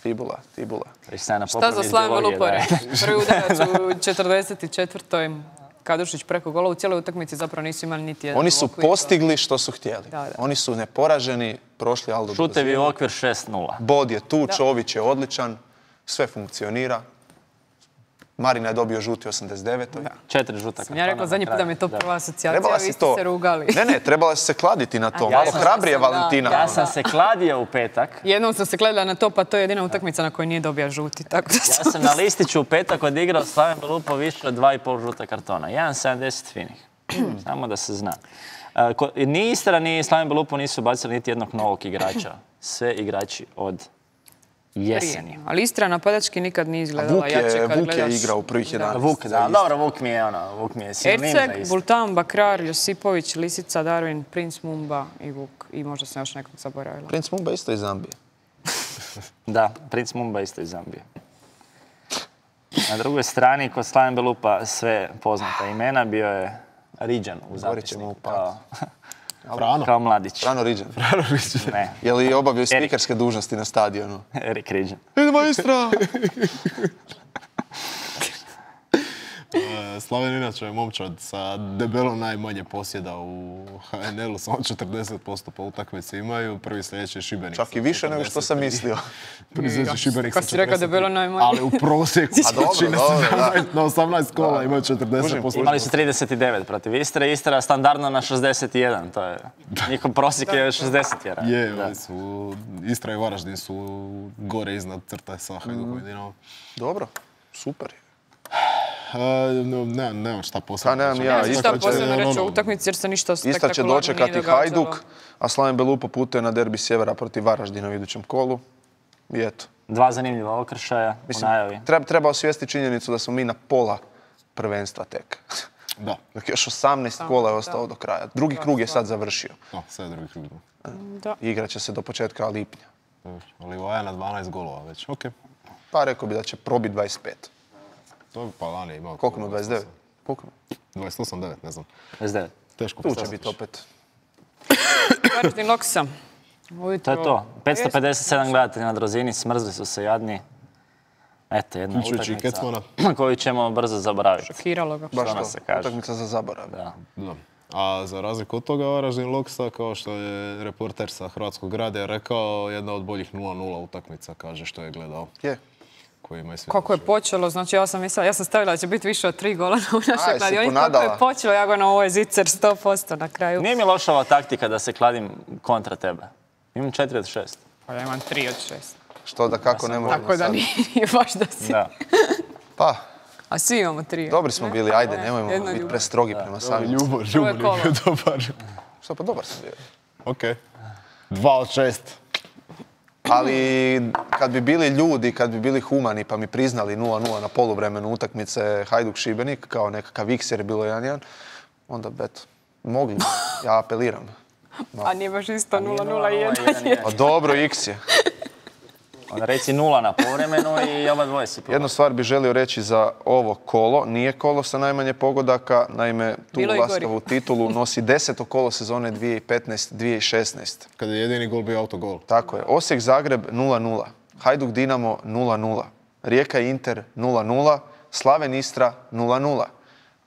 Fibula. Već sam na Šta za popravni Slaven biologije, Velupore? da. Prvi udarac u 44. Kadušić preko gola. U cijeloj utakmici zapravo nisu imali niti jedan Oni su okvir. postigli što su htjeli. Da. Oni su neporaženi, prošli Aldo Šutevi u Brozinu. okvir 6-0. Bod je tu, Čović je odličan, sve funkcionira. Marina je dobio žuti 89. 4 žuta kartona. Ja rekla zadnji put da mi je to prva asocijacija, Trebala vi si ste to... se rugali. Ne, trebala si se kladiti na to. Ja Malo sam- hrabrije, da. Valentina. Ja sam se kladio u petak. Jednom sam se gledala na to, pa to je jedina utakmica na kojoj nije dobija žuti. Tako da Ja sam na listiću u petak odigrao Slaven Belupo više od 2,5 žuta kartona. 1,70 finih. Samo da se zna. Ni Istra, ni Slaven Belupo nisu bacili niti jednog novog igrača. Sve igrači od jeseni. Ali Istra napadački nikad nije izgledala jače kad Vuk gledaš. je igrao u prvih 11. Vuk, da, dobro, Vuk mi je sinonim za Erceg, Istru. Bultan, Bakrar, Josipović, Lisica, Darwin, Prince Mumba i Vuk. I možda sam još nekog zaboravila. Prince Mumba isto iz Zambije. Da, Prince Mumba isto iz Zambije. Na drugoj strani, kod Slaven Belupa sve poznata imena, bio je Riđan u Govorit ćemo zapisniku u pad. kao mladić. Rano Riđan. Ne, Je li obavio spikerske dužnosti na stadionu? Erik Riđan. Idemo Istra! Slaven inače je momčad sa debelo najmanje posjeda u HNL-u, samo 40% po utakmici imaju, prvi sljedeći je Šibenik. Čak i više nego što sam mislio. Prvi sljedeći Šibenik sa 40%. Kad si rekao debelo najmanje. Ali u prosjeku na 18 kola imaju 40%. Imali su 39 protiv Istre, Istra standardno na 61, to je, njihov prosjek je 61. Je, Istra i Varaždin su gore iznad crte sa Hajdukom i Dinamom. Dobro, super. Nemam šta posebno. Nemam ja. Šta posebno reći o utakmici jer se ništa spektakularno Istra će dočekati Hajduk, a Slaven Belupo putuje na derbi Sjevera protiv Varaždina u idućem kolu. I eto. 2 zanimljiva okršaja u najavi. Treba osvijestiti činjenicu da smo mi na pola prvenstva tek. Da. Dok još 18 kola je ostao do kraja. Drugi krug je sad završio. Sad je drugi krug. Igrat će se do početka lipnja. Livaja na 12 golova već, okej. Pa rekao bi da će probiti 25. To bi pa lani imao. Koliko mu 29? Koliko? 28-9, ne znam. 29. Teško Tu će biti opet. Varaždin Loksa. To je to. 557 gledatelja na Drozini, smrzli su se jadni. Eto, jedna utakmica koju ćemo brzo zaboraviti. Šokiralo ga. Baš to, utakmica za zaborav. Da. A za razliku od toga Varaždin Loksa, kao što je reporter sa Hrvatskog radija rekao, jedna od boljih 0-0 utakmica, kaže što je gledao. Je. Kako je počelo, znači ja sam stavila da će biti više od 3 gola u našoj kladionici. Kako je počelo, ja go na ovo je zicer 100% na kraju. Nije mi loša ova taktika da se kladim kontra tebe. Imam 4 od 6. Pa ja imam 3 od 6. Što da kako ne možemo sad. Tako da nije baš da si. Pa. A svi imamo 3. Dobri smo bili, ajde, nemojmo biti prestrogi prema samim. Ljubor je bio dobar. Što pa dobar sam bio. Okej. 2 od 6. Ali kad bi bili ljudi, kad bi bili humani pa mi priznali 0-0 na poluvremenu utakmice Hajduk-Šibenik kao nekakav X jer je bilo 1-1, onda mogli, ja apeliram. A nije baš isto 0-0 i 1-1. Pa dobro, X je. Onda reci 0 na povremenu i oba dvoje si. Jednu stvar bih želio reći za ovo kolo. Nije kolo sa najmanje pogodaka, naime tu laskavu titulu nosi 10. kolo sezone 2015-2016. Kada je jedini gol bio autogol. Tako je. Osijek-Zagreb 0-0, Hajduk-Dinamo 0-0, Rijeka-Inter 0-0, Slaven-Istra 0-0,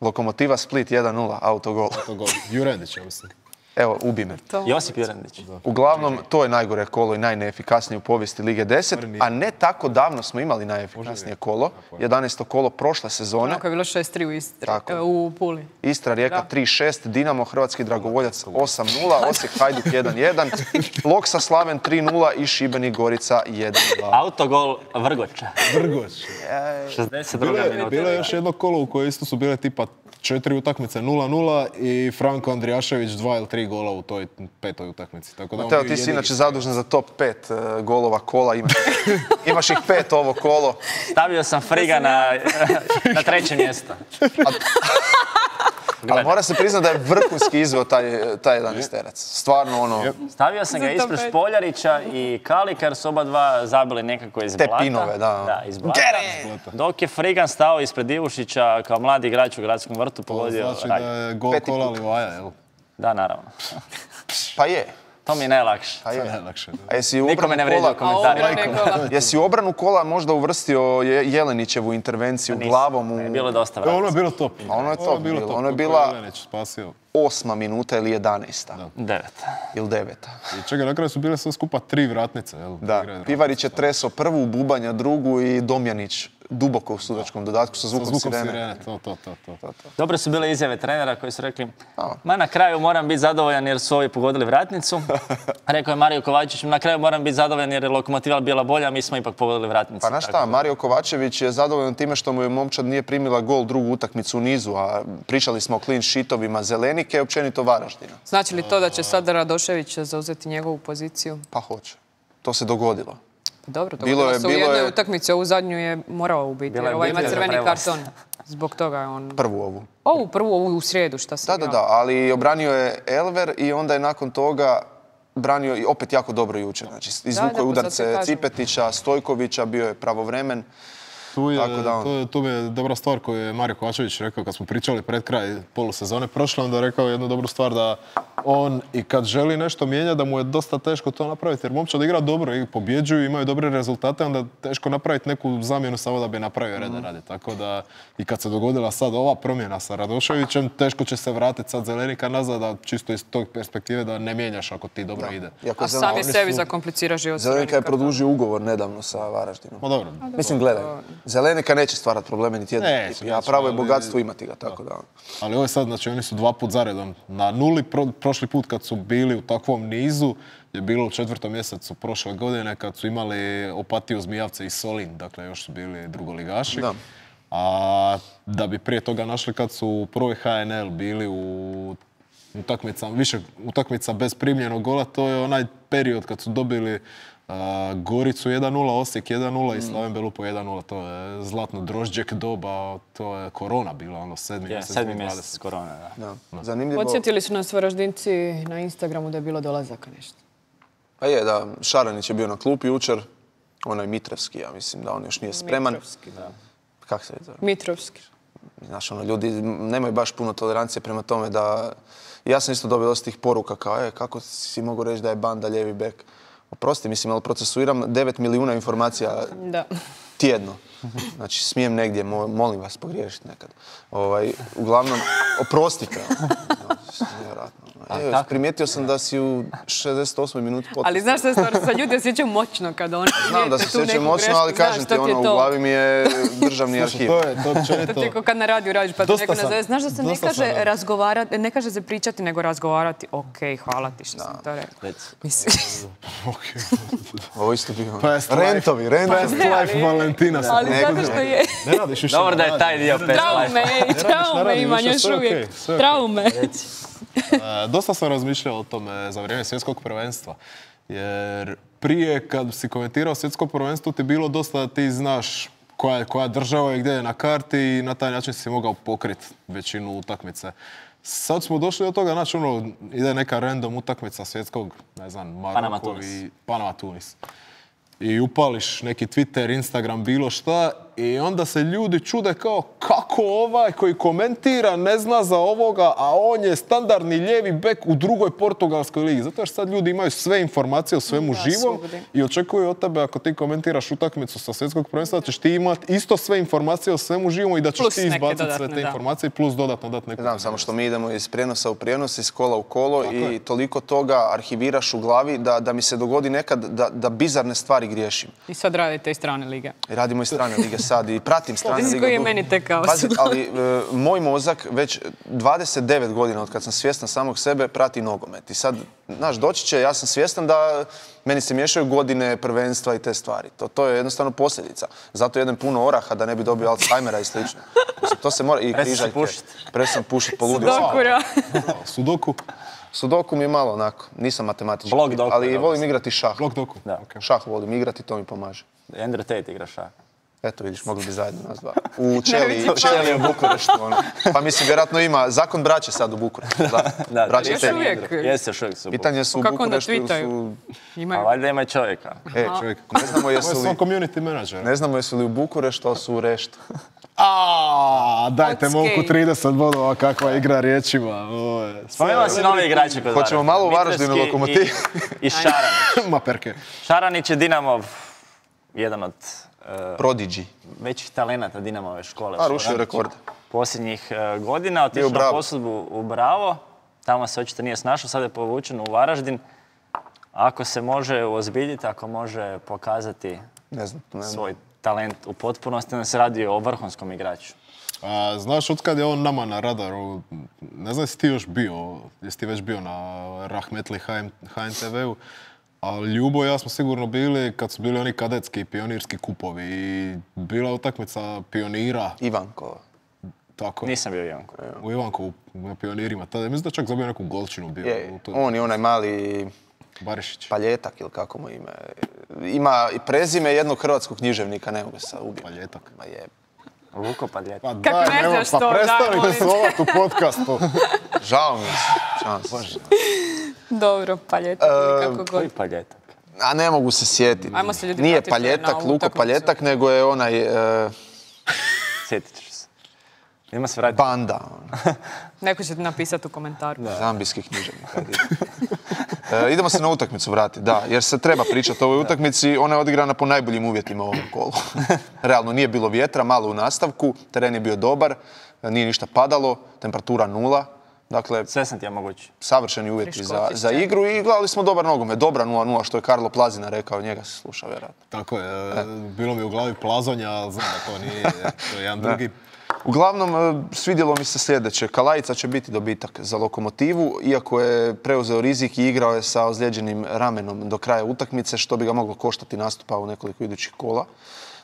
Lokomotiva Split 1-0, autogol. Jurendić, ja mislim. Evo, ubi me. Josip Jurendić. Uglavnom, to je najgore kolo i najneefikasnije u povijesti Lige 10, a ne tako davno smo imali najefikasnije kolo, 11. kolo prošle sezone. Tako je bilo 6-3 u Istri, u Puli. Istra, Rijeka 3-6, Dinamo, Hrvatski Dragovoljac 8-0, Osijek, Hajduk 1-1, Loksa, Slaven 3-0 i Šibenik, Gorica 1-2. Autogol Vrgoča. Vrgoč. 62. minuta. Bilo je još jedno kolo u koje isto su bile tipa 4 utakmice 0-0 i Franko Andrijašević 2 ili 3 gola u toj 5. utakmici. Mateo, ti si inače zadužen za top 5 golova kola. Imaš ih 5 ovo kolo. Stavio sam Friga na 3. mjesto. Ali mora se priznati da je vrhunski izveo taj 11-terac. Stvarno ono... Stavio sam ga ispred Špoljarića i Kalika jer su oba dva zabili nekako iz blata. Te pinove, da. Da, iz blata. Dok je Frigan stao ispred Ivušića kao mladi igrač u Gradskom vrtu pogodio raj. To znači da je gol kola Livaja, jel? Da, naravno. Pa je. To mi je najlakše. Nikome ne vređa komentarima. Jesi u obranu kola možda uvrstio Jelenićevu intervenciju glavom? Ne, bilo je dosta vrata. Ono je bilo top. Ono je top bilo. Ono je bila 8. minuta ili 11. 9. Ili 9. I čekaj, na kraju su bile sve skupa 3 vratnice. Da, Pivarić je tresao prvu, Bubanja drugu i Domjanić duboko u sudačkom dodatku sa zvukom sirene. To. Dobre su bile izjave trenera koji su rekli na kraju moram biti zadovoljan jer su ovi pogodili vratnicu. Rekao je Mario Kovačević, na kraju moram biti zadovoljan jer je Lokomotiva bila bolja, a mi smo ipak pogodili vratnicu. Pa znaš šta, Mario Kovačević je zadovoljan time što mu je momčad nije primila gol drugu utakmicu u nizu, a pričali smo o clean sheetovima Zelenike i općenito Varaždina. Znači li to da će sada Radošević zauzeti njegovu poziciju? Pa hoće. To se dogodilo. Dobro, dogodilo se u jednoj utakmici, ovu zadnju je morao ubiti, jer ovaj ima crveni karton. Zbog toga je on... Prvu ovu. Ovu u srijedu, šta se igrao. Da, ali obranio je Elver i onda je nakon toga branio i opet jako dobro jučer. Znači, izvukao je udarce Cipetića, Stojkovića, bio je pravovremen. Tu je dobra stvar koju je Mario Kovačević rekao kad smo pričali pred kraj polusezone prošle, onda je rekao jednu dobru stvar da on i kad želi nešto mijenjati da mu je dosta teško to napraviti jer momčad igra dobro i pobjeđuju, imaju dobre rezultate, onda je teško napraviti neku zamjenu samo da bi napravio reda radi. Tako da i kad se dogodila sad ova promjena sa Radoševićem, teško će se vratiti sad Zelenika nazad, da čisto iz tog perspektive da ne mijenjaš ako ti dobro ide. A sam je sebi zakomplicira život. Zelenika je produžio ugovor nedavno sa Varaždinom. Dobro. Mislim, gledaj, Zelenika neće stvarati probleme niti jednom ekipi, a pravo je bogatstvo imati ga, tako da. Ali ovo je sad, znači oni su 2 put zaredom na nuli, prošli put kad su bili u takvom nizu je bilo u 4. mjesecu prošle godine kad su imali Opatiju, Zmijavce i Solin, dakle još su bili drugoligaši. Da. A da bi prije toga našli kad su u prvoj HNL bili u više utakmica bez primljenog gola, to je onaj period kad su dobili Goricu 1-0, Osijek 1-0 i Slaven Belupo 1-0. To je zlatno Drožđek doba, to je korona bila, 7. mjesec. 7. mjesec korona, da. Zanimljivo. Podsjetili su nas Varaždinci na Instagramu da je bilo dolazaka nešto. Pa je, da, Šaranić je bio na klupi jučer, onaj Mitrovski, ja mislim da on još nije spreman. Mitrovski, da. Kako se zove? Mitrovski. Znaš, ljudi nemaju baš puno tolerancije prema tome da... Ja sam isto dobio dosta tih poruka kao, kako si mogu reći da je Banda lijevi bek? Oprosti, mislim, ali procesuiram 9 milijuna informacija tjedno. Znači, smijem negdje, molim vas, pogriješiti nekad. Uglavnom, oprostite. Primijetio sam da si u 68. minuti potpuno. Ali znaš što je stvar, sa ljudi osjećaju moćno kada oni znam da se osjećaju moćno, ali kažem ti, u glavi mi je državni arhiv. To ti kao kad na radiju radiš pa te neko nazove. Znaš da se ne kaže razgovarati, ne kaže se pričati, nego razgovarati. Okej, hvala ti što sam to rekao. Ovo isto bio. Rentovi. Past life Valentina. Ali zato što je... Ne radiš više. Dobro da je taj dio past life. Traume imam još uvijek. Traume. Dosta sam razmišljao o tome za vrijeme svjetskog prvenstva. Jer prije kad si komentirao svjetsko prvenstvo ti je bilo dosta da ti znaš koja država je gdje je na karti i na taj način si mogao pokriti većinu utakmice. Sad smo došli do toga, znači ide neka random utakmica svjetskog, ne znam, Maroko i Panama Tunis. I upališ neki Twitter, Instagram, bilo šta i onda se ljudi čude kao kako ovaj koji komentira ne zna za ovoga, a on je standardni lijevi bek u drugoj portugalskoj ligi. Zato što sad ljudi imaju sve informacije o svemu živom i očekuju od tebe ako ti komentiraš utakmicu sa svjetskog prvenstva da ćeš ti imati isto sve informacije o svemu živom i da ćeš ti izbaciti sve te informacije plus dodatno dati neku. Znam, samo što mi idemo iz prijenosa u prijenos, iz kola u kolo i toliko toga arhiviraš u glavi da mi se dogodi nekad da bizarne stvari griješim. I sad radite i strane lige. Radimo i strane lige sad i pratim strane lige. Koji je meni tekao. Pazi, ali moj mozak već 29 godina od kad sam svjestan samog sebe prati nogomet. I sad, znaš, doći će, ja sam svjestan da meni se miješaju godine, prvenstva i te stvari. To je jednostavno posljedica. Zato jedem puno oraha da ne bi dobio Alzheimera i slično. To se mora... I križaljke. Presam pušiti, poludio. Sudoku. Sudoku mi je malo onako, nisam matematički, ali volim igrati šah. Šah volim igrati, to mi pomaže. Andrew Tate igra šah. Eto vidiš, mogli bi zajedno nas dva. U Čeli u Bukureštu. Pa mislim, vjerojatno ima zakon braće sad u Bukureštu. Braće još uvijek. Jeste još uvijek su u Bukureštu. Pitanje su u Bukureštu ili su... A valjda ima čovjeka. Čovjek. Ne znamo jesu li u Bukureštu, ali su u Reštu. Dajte momku 30 bodova, kakva igra riječima. Spomenula si nove igrače kod Varaždina. Hoćemo malo u Varaždinu Lokomotiv. I Šaranić. Ma perke. Šaranić je Dinamov, jedan od Prodigy. Većih talenata Dinamove škole. Rušio rekord. Posljednjih godina otišao na posudbu u Bravo. Tamo se očito nije snašao, sad je povučen u Varaždin. Ako se može uozbiljiti, ako može pokazati svoj talent u potpunosti, onda se radi o vrhunskom igraču. Znaš, otkad je on nama na radaru, ne znam jesi ti još bio, jesi ti već bio na Rahmetli HNTV-u, ali Ljubo i ja smo sigurno bili kad su bili oni kadetski pionirski kupovi i bila utakmica pionira. Ivankova. Tako je. Nisam bio Ivanko. U Ivankovu na pionirima. Tada mislim da čak zabio neku golčinu bio. On je onaj mali... Barišić. Paljetak ili kako mu ime. Ima i prezime jednog hrvatskog književnika, ne mogu se ubiti. Paljetak. Ma je. Luko Paljetak. Pa daj, pa prestanite seovat u podcastu. Žao mi se. Dobro, Paljetak ili kako god. Koji Paljetak? A ne mogu se sjetiti. Ajmo se ljudi Nije vratiti Paljetak, na ovu Luko utakmicu. Paljetak, nego je onaj Sjetit ćeš se. Idemo se vratiti. Banda. Neko će ti napisati u komentaru. Zambijski književnik. Idemo se na utakmicu vratiti, da, jer se treba pričati o ovoj utakmici. Ona je odigrana po najboljim uvjetima u ovom kolu. Realno, nije bilo vjetra, malo u nastavku, teren je bio dobar, nije ništa padalo, temperatura 0. Dakle, Sve sam ti ja mogući. savršeni uvjeti Friškoći za scena. igru i gledali smo dobar nogomet. Dobra 0-0, što je Karlo Plazina rekao, njega se sluša vjerojatno. Tako je, bilo mi u glavi Plazonja, znam da to nije, to je jedan drugi. Uglavnom, svidjelo mi se sljedeće. Kalajica će biti dobitak za Lokomotivu, iako je preuzeo rizik i igrao je sa ozlijeđenim ramenom do kraja utakmice, što bi ga moglo koštati nastupa u nekoliko idućih kola.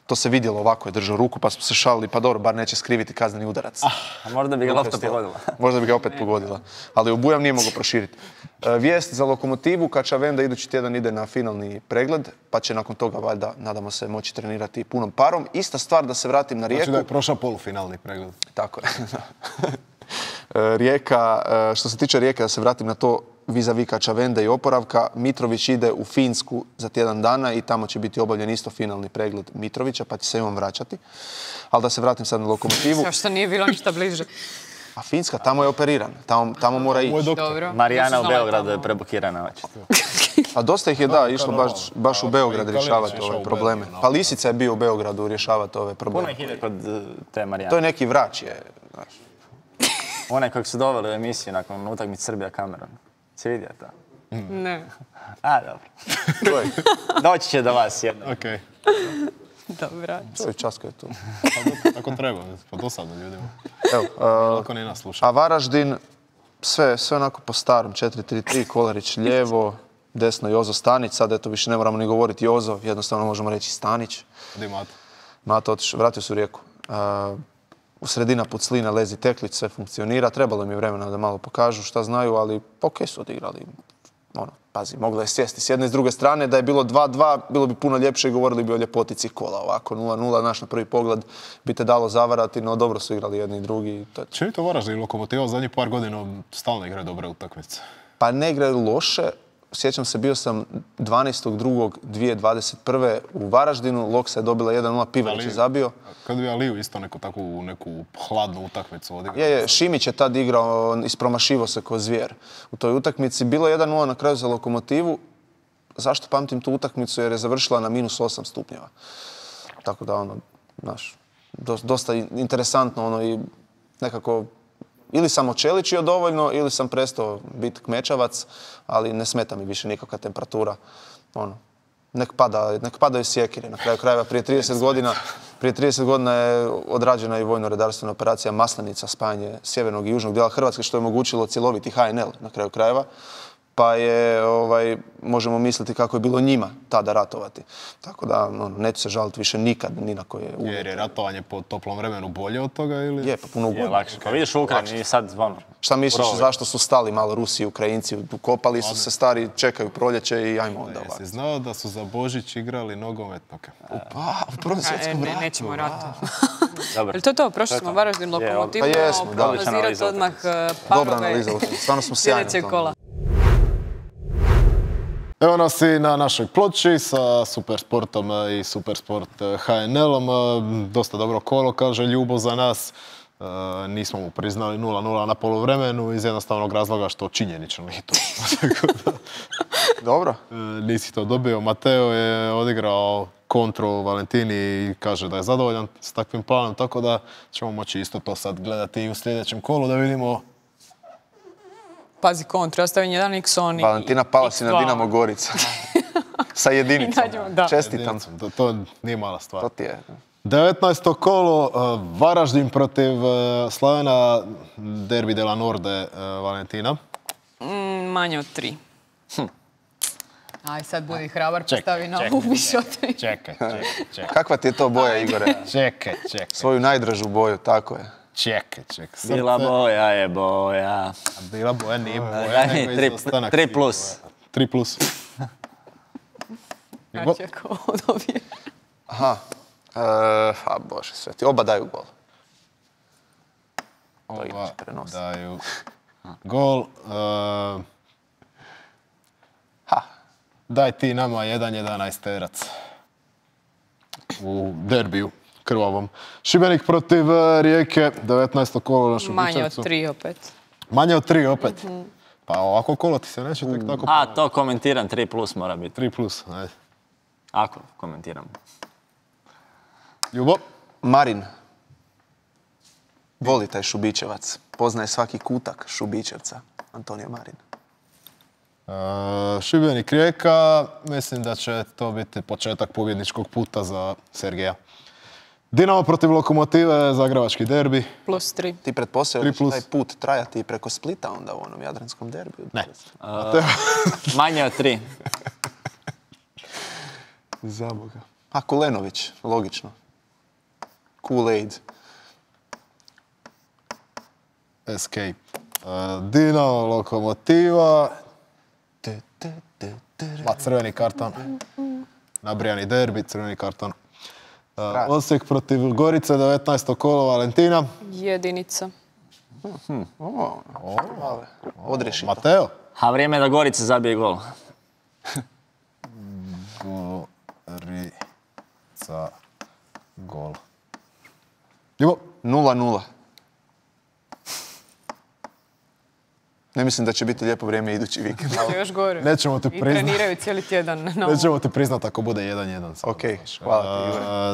To se vidjelo, ovako je držao ruku, pa smo se šalili, pa dobro, bar neće skriviti kazneni udarac. A možda bi ga lopta pogodila. Možda bi ga opet pogodila. Ali obujam nije mogao proširiti. Vijest za Lokomotivu, Kačavenda idući tjedan ide na finalni pregled, pa će nakon toga, valjda, nadamo se, moći trenirati punom parom. Ista stvar, da se vratim na Rijeku. Znači da je prošao polufinalni pregled. Tako je. Rijeka, što se tiče Rijeke, da se vratim na to, vis-a-vis Kačavende i oporavka, Mitrović ide u Finsku za tjedan dana i tamo će biti obavljen isto finalni pregled Mitrovića, pa će se i on vraćati. Ali da se vratim sad na Lokomotivu. Zašto nije bilo ništa bliže? A Finska, tamo je operiran, tamo mora ići. Dobro. Marijana Ja u sam znala Beogradu je tamo. preblokirana očito. A dosta ih je, da, išlo baš u Beograd Kalinić rješavati išao ove u probleme. Belgiju, Pa Lisica je bio u Beogradu rješavati ove Puno probleme. ih ide kod te Marijane. To je neki vrač je, znaš. Onaj kojeg su doveli u emisiju nakon utakmice Srbija-Kamerun. Si vidio to? Ne. A, dobro. To je, Doći će do vas jedno. Okej, Dobra. to je časka je tu. tako treba, pa dosadno ljudima. Evo, Lako ni nas sluša. a Varaždin, sve onako po starom, 4-3-3, Kolarić lijevo, desno Jozo Stanić, sad eto više ne moramo ni govoriti Jozo, jednostavno možemo reći Stanić. Di Mato? Mato otišao, vratio se u Rijeku. U sredina Puclina, Lezi Teklić, sve funkcionira, trebalo im je vremena da malo pokažu šta znaju, ali okej su odigrali. Pazi, mogla je sjesti s jedne i s druge strane, da je bilo 2-2, bilo bi puno ljepše i govorili bi o ljepotici kola. Ovako 0-0, naš na prvi pogled bi te dalo zavarati, no dobro su igrali jedni i drugi. To je... Čini to Varaždin i Lokomotiva zadnjih par godina stalno igraju dobre utakmice. Pa ne igraju loše. Sjećam se, bio sam 12.2.2021. u Varaždinu, Loksa je dobila 1-0, Pivarić je zabio. Kad bi Aliju isto neku hladnu utakmicu odigrao. Je, Šimić je tad igrao, ispromašivo se ko zvijer u toj utakmici. Bilo je 1-0 na kraju za Lokomotivu. Zašto pamtim tu utakmicu? Jer je završila na -8 stupnjeva. Tako da, znaš, dosta interesantno, i nekako ili sam očeličio dovoljno, ili sam prestao biti kmečavac, ali ne smeta mi više nikakva temperatura. Nek padaju sjekire. Na kraju krajeva, prije 30 godina je odrađena i vojno-redarstvena operacija Maslenica, spajanje sjevernog i južnog dijela Hrvatske, što je omogućilo cjeloviti HNL na kraju krajeva. Pa je, možemo misliti kako je bilo njima tada ratovati. Tako da, neću se žaliti više nikad, ni na koje uvjete. Jer je ratovanje po toplom vremenu bolje od toga ili? Je, pa puno Je ugodno. lakše. Pa vidiš u Ukrajini i sad Šta misliš, zašto su stali malo Rusi i Ukrajinci? Ukopali su se stari, čekaju proljeće i ajmo onda ovako. Jesi znao da su za Božić igrali nogometnoke? Pa, u Prvom svjetskom ratu. Nećemo rata. Dobro. Jel to to? Prošli smo Varaždin, Lokomotivu, Pa jesmo, da. prognozirati odmah Dobra parove analiza, stvarno smo sjajni u sljedećeg tome. kola. Evo nas i na našoj ploči sa Supersportom i Supersport HNL-om. Dosta dobro kolo, kaže Ljubo za nas. Nismo mu priznali 0-0 na polovremenu iz jednostavnog razloga što činjenično nije to. Dobro. Nisi to dobio. Mateo je odigrao kontru Valentini i kaže da je zadovoljan s takvim planom, tako da ćemo moći isto to sad gledati i u sljedećem kolu da vidimo. Pazi kontru, ja stavim jedan X, oni... Valentina Palasina, X2. Dinamo Gorica. Sa jedinicom. Da. Čestitam. To nije mala stvar. To ti je. 19. kolo, Varaždin protiv Slavena, derbi de la Norde, Valentina. Manje od 3. Aj, sad budi hrabar, postavi na ovu više od 3. Čekaj. Kakva ti je to boja, Igore? Čekaj. Svoju najdražu boju, tako je. Čekaj. Bila boja je boja. Bila boja, nije boja, Daj mi nego izostanak 3 svih plus. boja. 3 plus. Znači, ako ovo dobije. Aha. A Bože sveti, oba daju gol. To Oba inače prenosi. daju gol. Ha. Daj ti nama 1-11 terac. U derbiju krvavom. Šibenik protiv Rijeke, 19. kolo na Šubičevcu. Manje od 3 opet. Manje od 3 opet? Pa ovako kolo ti se neće tek tako... To komentiram, 3+ mora biti. 3+, ajde. Ako komentiram. Ljubo? Marin. Voli taj Šubičevac. Poznaje svaki kutak Šubičevca. Antonio Marin. Šibenik Rijeka, mislim da će to biti početak pobjedničkog puta za Sergeja. Dinamo protiv Lokomotive, zagrebački derbi. +3. Ti pretpostavljaš taj put trajati preko Splita onda u onom jadranskom derbiju? Ne. Manje od 3. Zaboga. A Kulenović, logično. Kool-Aid. Escape. Dinamo, Lokomotiva. Crveni karton. Nabrijani derbi, crveni karton. Osijek protiv Gorice, 19. kolo, Valentina. 1. Odreši to. Mateo. A vrijeme je da Gorica zabije gol. Gorica, gol. Ljubo. 0-0. Ne mislim da će biti lijepo vrijeme idući vikend. Još gore. Nećemo te I priznat. treniraju cijeli tjedan. Nećemo te priznat ako bude 1-1. Ok, hvala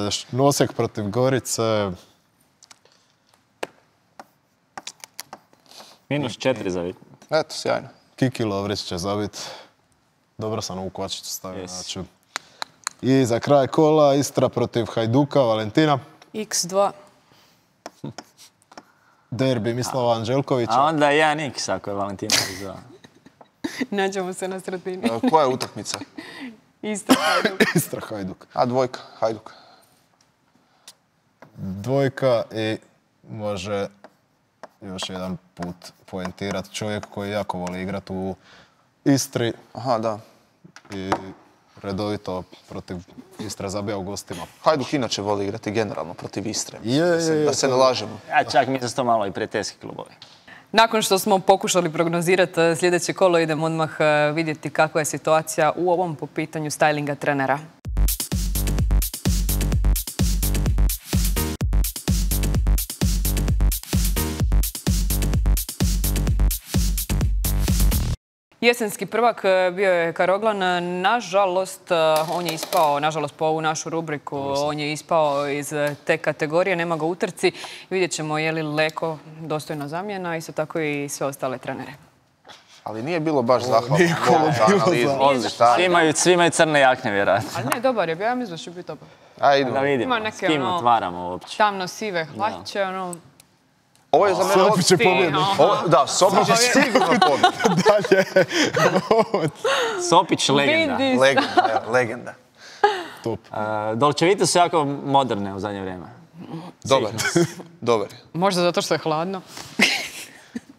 ti. Osijek protiv Gorice. -4 za vikend. Eto, sjajno. Kiki Lovrić će zabit. Dobro sam ovu kvačicu stavio. Znači. I za kraj kola Istra protiv Hajduka, Valentina. X2. Derbi Mislava Anđelkovića. A onda 1x ako je Valentina izvao. Nađemo se na sredini. Koja je utakmica? Istra Hajduk. Istra Hajduk. A dvojka, Hajduk. Dvojka i može još jedan put poentirat čovjek koji jako voli igrat u Istri. Aha, da. I redovito protiv Istre zabija u gostima. Hajduk inače voli igrati generalno protiv Istre. Da se ne lažemo. Ja čak mi za to malo i prijateljski klubovi. Nakon što smo pokušali prognozirati sljedeće kolo, idemo odmah vidjeti kakva je situacija u ovom po pitanju stylinga trenera. Jesenski prvak bio je Karoglan. Nažalost, on je ispao, nažalost po ovu našu rubriku, on je ispao iz te kategorije, nema ga u utrci. Vidjet ćemo je li Leko dostojna zamjena, isto tako i sve ostale trenere. Ali nije bilo baš zahvalno. Svi imaju crne jakne, vjerojatno. Ali ne, dobar je bio, ja mislim da će biti dobar. Ajde. Da vidimo, s kim otvaramo uopće. Tamno-sive hlače, ono... Ovo je za mene... Sopić će pobjediti. Da, Sopić je sigurno pobjediti. Dalje. Sopić legenda. Legenda. Top. Dolčevite su jako moderne u zadnje vrijeme. Dobar. Možda zato što je hladno.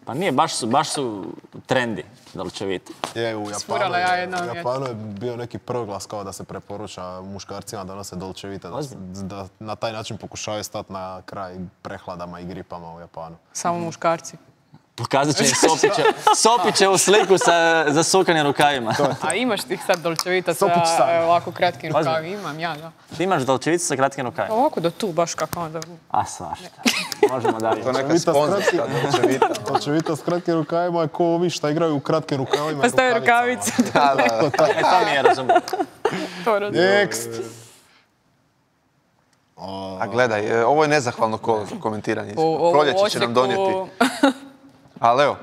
Pa nije, baš su trendi Dolčevite. Je, u Spurala ja jednom Japanu je bio neki proglas kao da se preporuča muškarcima da nose Dolčevite, da na taj način pokušavaju stati na kraj prehladama i gripama u Japanu. Samo muškarci. Pokazat će im Sopićevu sliku sa zasukanim rukavima. A imaš ti sad Dolčevita sa ovako kratkim rukavima? Imam, ja, da. Ti imaš Dolčevicu sa kratkim rukavima? Ovako do tu, baš kako onda... A svašta. Možemo dalje. To je neka sponzorska Dolčevita. Dolčevita s kratkim rukavima je ko ovi šta igraju u kratkim rukavima. Pa staje rukavice. To mi je razumio. Next. A gledaj, ovo je nezahvalno kolo za komentiranje. Proljeće će nam donijeti. Ali evo,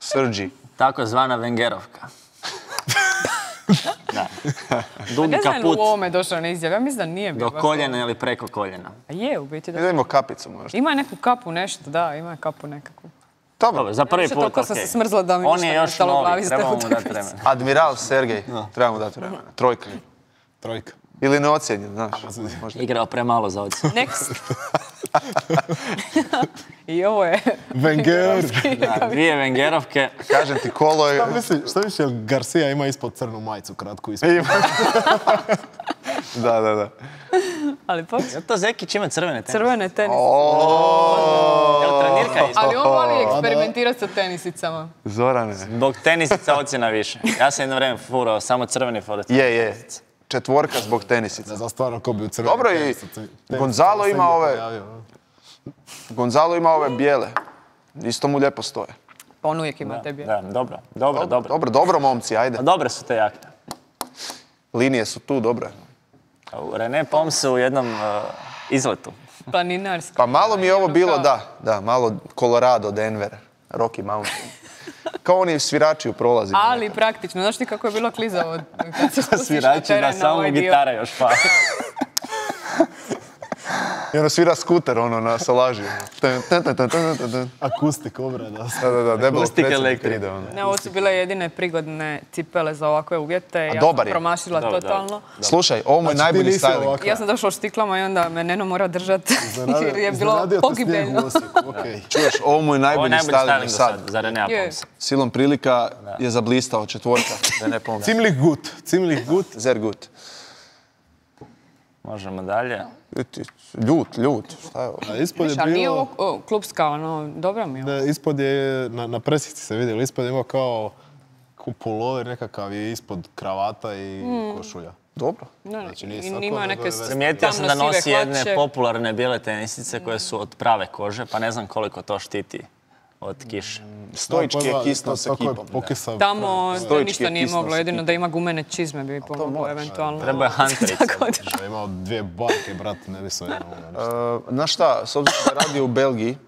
Srđi. Takozvana Wengerovka. Da. Dugi Ne znam kaput. u ovome došao na izjav, ja mislim da nije bio. Do koljena ili preko koljena. A je, u biti da. Idemo kapicu možda. Ima neku kapu nešto, da, ima kapu nekakvu. Dobro, za prvi put, Toliko sam se smrzla da mi on je još novi, trebamo mu dati utakmici. vremena. Admiral Sergej, trebamo dati vremena. Trojka. Ili neocijenjen, znaš. Igrao premalo za ocjenu. Next. I ovo je... Wenger. Da, 2 Wengerovke. Kažem ti, kolo je... Šta misliš, jel Garcia ima ispod crnu majicu kratku ispod? Da. Ali pa... To Zekić ima crvene tenise. Crvene tenise. Jel trenira Svirka isto. Ali on voli eksperimentirati sa tenisicama. Zorane. Zbog tenisica ocjena više. Ja sam jedno vrijeme furao samo crveni fluorescent. Je. 4 zbog tenisica. Ne znam stvarno ko bi u crveni. Dobro i Gonzalo ima ove bijele. Isto mu lijepo stoje. Pa on uvijek ima te bijele. Da, dobro. Dobro, momci, ajde. A dobre su te jakne. Linije su tu, dobre. René Poms u jednom izletu. Planinarski. Pa malo mi je ovo bilo, da, malo Colorado, Denver, Rocky Mountain. Kao oni svirači u prolazima. Ali praktično. Znaš ti kako je bilo klizavo kad se spustiš na Svirači teren da na samo ovaj dio? gitara još pa. I ono svira skuter, na Salažiju. Akustik obrada. Da, debelo Akustik predsjednik elektrik. ide, Ne, ovo su bile jedine prigodne cipele za ovakve uvjete. Ja dobar sam je. promašila totalno. Slušaj, ovo mu je Znači, ti najbolji nisi styling. ovakva. Ja sam došla u štiklama i onda me Neno mora držati jer je bilo Iznenadio te snijeg pogibeljno. u Osijeku, okej. Čuješ, ovo mu je Ovo je najbolji najbolji styling styling do do sad. sad, za René Je. Pomsa. Silom prilika je zablistao 4, da ne pomne. Ziemlich gut. Sehr gut. Možemo dalje. Ljut, šta je ovo? A ispod je Ali nije bilo... ovo klubska, dobra mi je. Da, ispod je, na presici se vidjelo, ispod je imao kao pulover nekakav je ispod kravata i košulja. Dobro. Znači, nije I sako, ima nego neke je vest. Primijetio sam da tamno-sive nosi jedne hlače. popularne bijele tenisice koje su od prave kože, pa ne znam koliko to štiti od kiše. Stojički je kisnuo s ekipom. Tamo Stojički ništa je nije kisnuo moglo, s jedino ekipom. da ima gumene čizme bi pomoglo moraš, eventualno. Treba je hanterica. Ja imao 2 barke, brat, ne bi se jedno. Znaš šta, s obzirom da radio u Belgiji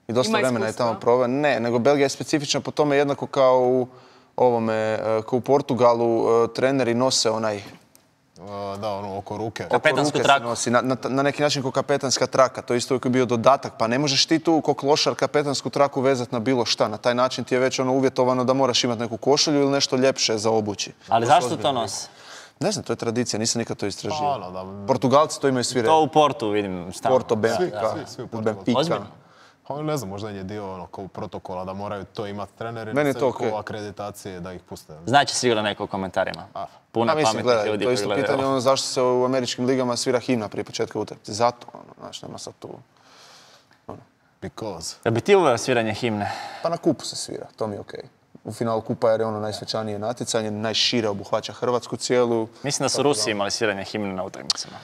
i dosta Ima vremena je iskustva. tamo proveo, ne, nego Belgija je specifična po tome jednako kao kao u Portugalu, treneri nose onaj Da, ono, oko ruke. Kapetansku ruke se traku. nosi, na neki način kao kapetanska traka, to je isto uvijek bio dodatak, pa ne možeš ti tu ko klošar kapetansku traku vezati na bilo šta, na taj način ti je već ono uvjetovano da moraš imati neku košulju ili nešto ljepše za obući. Ali zašto to nose? Ne znam, to je tradicija, nisam nikad to istražio. Ono, da, Portugalci to imaju svi To u Portu vidim stalno. Porto, Benfica, svi u Portugalu. Benfica. Ozbiljno? Pa ne znam, možda je dio ono, kao protokola da moraju to imati treneri. Meni je sve to kao okej. akreditacije da ih puste. Znači sigurno neko u komentarima. Puno A mislim, pametnih gledaj, ljudi to je koji isto gledaju pitanje ovo. ono zašto se u američkim ligama svira himna prije početka utakmice. Zato, znaš, nema sad tu. Because. Da bi ti uveo sviranje himne? Pa na kupu se svira, to mi je okej. U finalu kupa jer je ono najsvečanije natjecanje, najšire obuhvaća Hrvatsku cijelu. Mislim da su Rusi imali sviranje himne na utakmicama.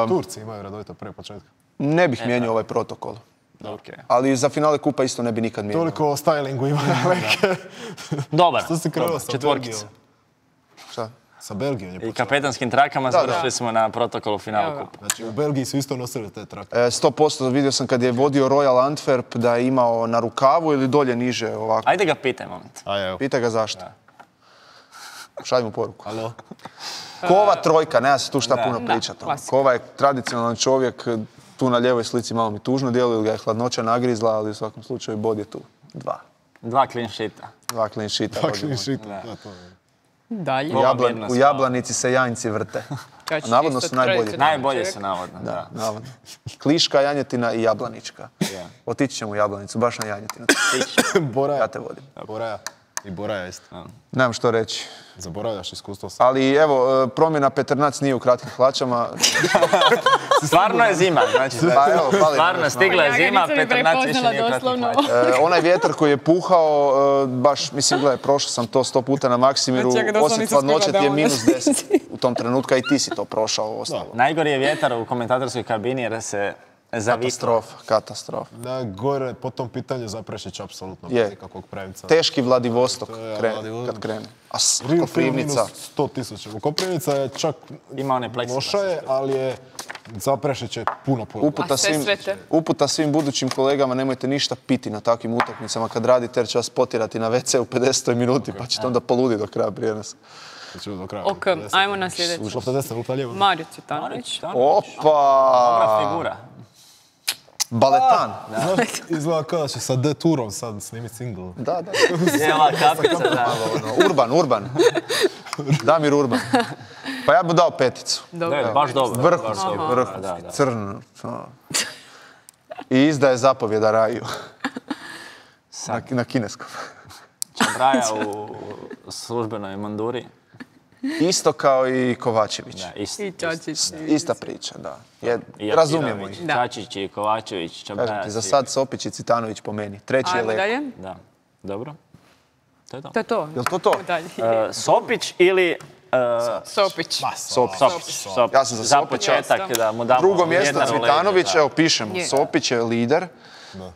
Turci imaju redovito prije početka. Ne bih mijenjao ovaj protokol. Okay. Ali za finale kupa isto ne bi nikad mijenjao. Toliko o stylingu ima neke. Dobar. Što si krenuo dobar. sa Četvorkica. Belgijom? Šta? Sa Belgijom je I počeo. kapetanskim trakama završili smo na protokolu finalu Evo. kupa. Znači, u Belgiji su isto nosili te trake. 100% vidio sam kad je vodio Royal Antwerp da je imao na rukavu ili dolje niže ovako. Ajde ga pitaj, moment. A evo. Pita ga zašto. Šalj mu poruku. Alo? Kova trojka, nema se tu šta puno pričati. klasika. Kova je tradicionalan čovjek, tu na lijevoj slici malo mi tužno djeluje, ili ga je hladnoća nagrizla, ali u svakom slučaju bod je tu. 2 clean sheeta. 2 clean sheeta. Takšni šit. Da, to je. Dalje. U Jablanici se janjci vrte. Kad će Navodno isto su najbolji. tradicionalni Najbolje čovjek. su navodno. Da. Navodno. Kliška, janjetina i jablanička. Otići ćemo u Jablanicu, baš na janjetinu. Boraja. Ja te vodim. Boraja. I Boraja isto. Nemam što reći. Zaboravljaš iskustvo sa... Ali evo, promjena Peternac nije u kratkim hlačama. Stvarno je zima, znači. Pa evo, fali nam Stvarno, još stigla je Ja ga zima, nisam ni Petrnac više prepoznala nije kratki doslovno. hlač. onaj vjetar koji je puhao, baš, mislim, gledaj, prošao sam to 100 puta na Maksimiru, Znači, ja ga doslovno osjet nisam hladnoće stigla ti je da minus 10 u tom trenutku, a i ti si to prošao ostalo. Najgori je vjetar u komentatorskoj kabini jer se zaviklo. Katastrofa. Da, gore po tom pitanju Zaprešić apsolutno Je. bez ikakvog premca. Teški Vladivostok je Vladivostok. kad krene. A Rio Koprivnica, minus 100.000. Koprivnica je čak Ima one pleksiglas. loša je, ali je Zaprešić je puno. uputa A Sesvete? uputa svim budućim kolegama, nemojte ništa piti na takvim utakmicama kad radite jer će vas potirati na WC u 50. minuti pa ćete onda poludi do kraja prijenosa. Znači, do kraja. Ok, ajmo na sljedeći. Lopta desna, lopta lijeva. Mario Cvitanović. Dobra Opa! figura. Baletan. Znaš, izgleda kao da će sa D-turom sad snimiti single. Da. Je ova kapica, da. Urban. Damir Urban. Pa ja bi dao 5. Da, baš dobro. Vrhunski, crn. I izdaje zapovjeda Raju. Na kineskom. Čabraja u službenoj manduri. Isto kao i Kovačević. Da, isto. I Čačić. Ista priča, da. I Razumijemo Apirović, ih. Čačić i Kovačević, Kažem Čabraja. ti, za sad Sopić i Cvitanović po meni. Treći je Ajmo Leko. dalje. Da, dobro. To je to. To je to. Jel to to? Dalje. Sopić ili... Sopić. Sopić. Ja sam za Za Sopića. početak da mu damo Drugo mjesto vjetar u leđa, Cvitanović, da. evo pišemo. Je. Sopić je lider,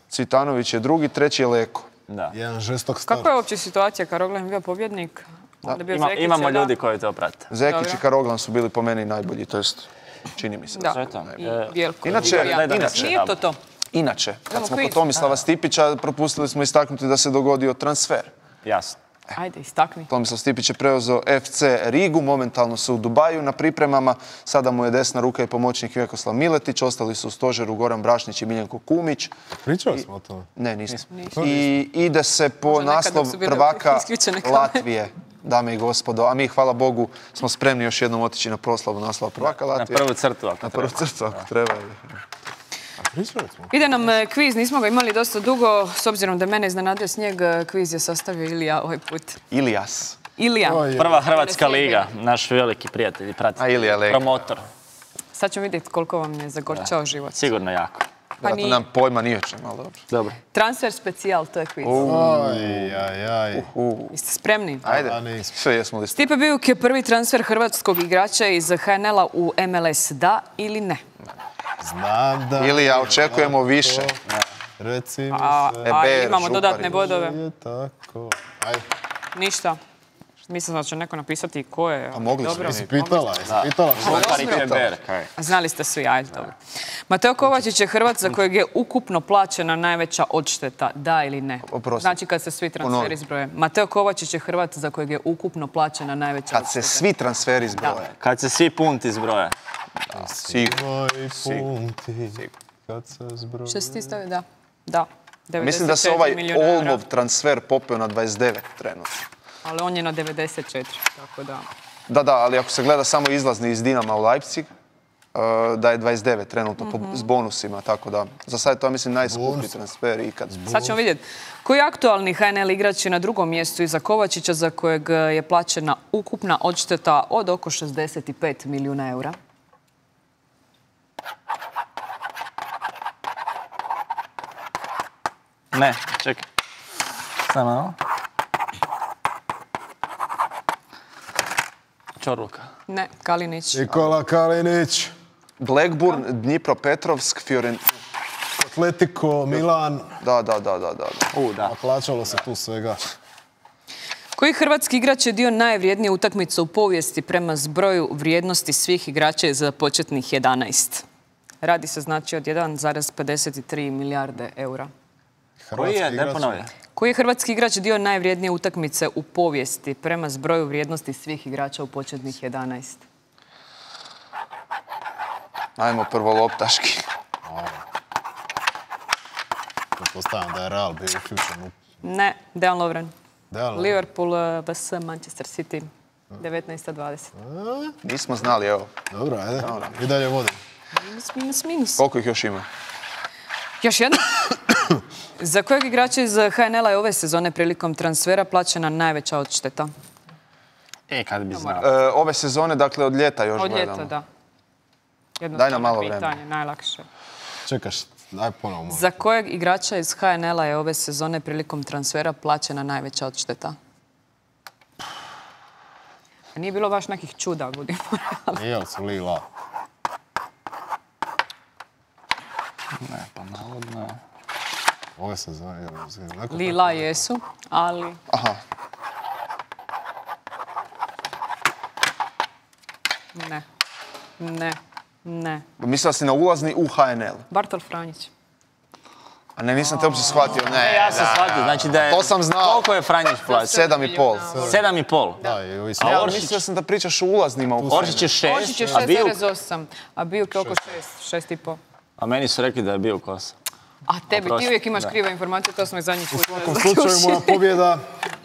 Cvitanović je drugi, treći je Leko. Da. Jedan žestok start. Kakva je uopće situacija? Karoglan je bio pobjednik. Onda je bio Zekić, Imamo da? ljudi koji to prate. Zekić Dobro. i Karoglan su bili po meni najbolji, to jest čini mi se. Da. To je to. I Bjelko. Inače, inače, Nije to to. Inače, kad Imamo smo quiz. kod Tomislava Stipića, propustili smo istaknuti da se dogodio transfer. Jasno. Ajde, istakni. Tomislav Stipić je preuzeo FC Rigu, momentalno su u Dubaju na pripremama, sada mu je desna ruka i pomoćnik Vjekoslav Miletić, ostali su u stožeru Goran Brašnić i Miljenko Kumić. Pričali smo o tome. Ne, nismo. I ide se po Možda nekad naslov dok su bile prvaka isključene kamere. Latvije, dame i gospodo. A mi, hvala Bogu, smo spremni još jednom otići na proslavu naslova prvaka Na Latvije. prvu crtu ako Na treba. prvu crtu, ako treba. Pričali smo. Ide nam kviz, nismo ga imali dosta dugo, s obzirom da mene iznenadio snijeg, kviz je sastavio Ilija ovaj put. Ilijas. Ilija. Prva Hrvatska liga, naš veliki prijatelj i A pratitelj. Ilija Lega. Promotor. Sad ćemo vidjeti koliko vam je zagorčao život. Sigurno jako. Pa Vjerojatno nije. nemam pojma ni o čem, ali dobro. Dobro. Transfer specijal, to je kviz. Aj. Jeste spremni? Ajde, A, nismo. sve jesmo li Stipe Bijuk je prvi transfer hrvatskog igrača iz HNL-a u MLS, da ili ne? Znam da... Ilija, očekujemo više. Reci mi A se. Eber, imamo Župari. dodatne bodove. Je tako. Aj. Ništa. Mislim da će neko napisati i ko je. A mogli smo Dobro. mi. Jesi pitala? Župar i Heber, kaj. A znali ste svi, ajde, dobro. Mateo Kovačić je Hrvat za kojeg je ukupno plaćena najveća odšteta, da ili ne? Oprosti. Znači kad se svi transferi Ponovi. zbroje. Mateo Kovačić je Hrvat za kojeg je ukupno plaćena najveća Kad se odšteta. svi transferi zbroje. Kad se svi punti zbroje. Sigurno. Moji punti, kad se zbroji. Što si ti stavio? Da. Da. Mislim da se 94 ovaj milijuna eura. Olmov transfer popeo na 29 trenutno. Ali on je na 94, tako da... Da, ali ako se gleda samo izlazni iz Dinama u Leipzig, da je 29 trenutno s bonusima, tako da za sad je to, mislim, najskuplji transfer ikad. Sad ćemo vidjeti. Koji aktualni HNL igrač je na drugom mjestu iza Kovačića za kojeg je plaćena ukupna odšteta od oko 65 milijuna eura? Ne, čekaj. Samo malo. Čorluka. Ne, Kalinić. Nikola Kalinić, Blackburn, Dnipropetrovsk, Fiorentina. Atletico, Milan. Da. Da. A plaćalo se tu svega. Koji hrvatski igrač je dio najvrijednije utakmice u povijesti prema zbroju vrijednosti svih igrača za početnih 11? Radi se znači od 1,53 milijarde eura. Koji je? Ne ponovlja. Koji je hrvatski igrač dio najvrijednije utakmice u povijesti prema zbroju vrijednosti svih igrača u početnih 11? Ajmo prvo loptaški. Pretpostavljam da je Real bio uključen u... Ne, Dejan Lovren. Dejan Lovren. Liverpool vs Manchester City. 19:20. Nismo znali, evo. Dobro, ajde. I dalje vodim. Minus. Koliko ih još ima? Još jedno. Za kojeg igrača iz HNL-a je ove sezone prilikom transfera plaćena najveća odšteta? Kad bi znao. Ove sezone, dakle, od ljeta još Od gledamo. ljeta, da. Daj nam malo pitanje, vremena. najlakše. Čekaš, daj ponovo. Za kojeg igrača iz HNL-a je ove sezone prilikom transfera plaćena najveća odšteta? A nije bilo baš nekih čuda, budimo realni. Nije li su Lila? Ne, pa navodno. Ove sezone. Lila jesu, ali... Aha. Ne. Mislila si na ulazni u HNL. Bartol Franjić. A ne, nisam te uopće shvatio. Ne, Ja sam shvatio, znači da je... To sam znao. Koliko je Franjić plaća? 7,5. 7,5. Da, i ovi su... A Ja, Oršić? mislio sam da pričaš o ulaznima u Oršić je 6, Oršić je a Bijuk... 6,8, a Bijuk je oko 6,5. A meni su rekli da je Bijuk 8. A tebi, ti Oprosti, uvijek imaš da. krive informacije, to smo i zadnji put. U svakom slučaju moja pobjeda.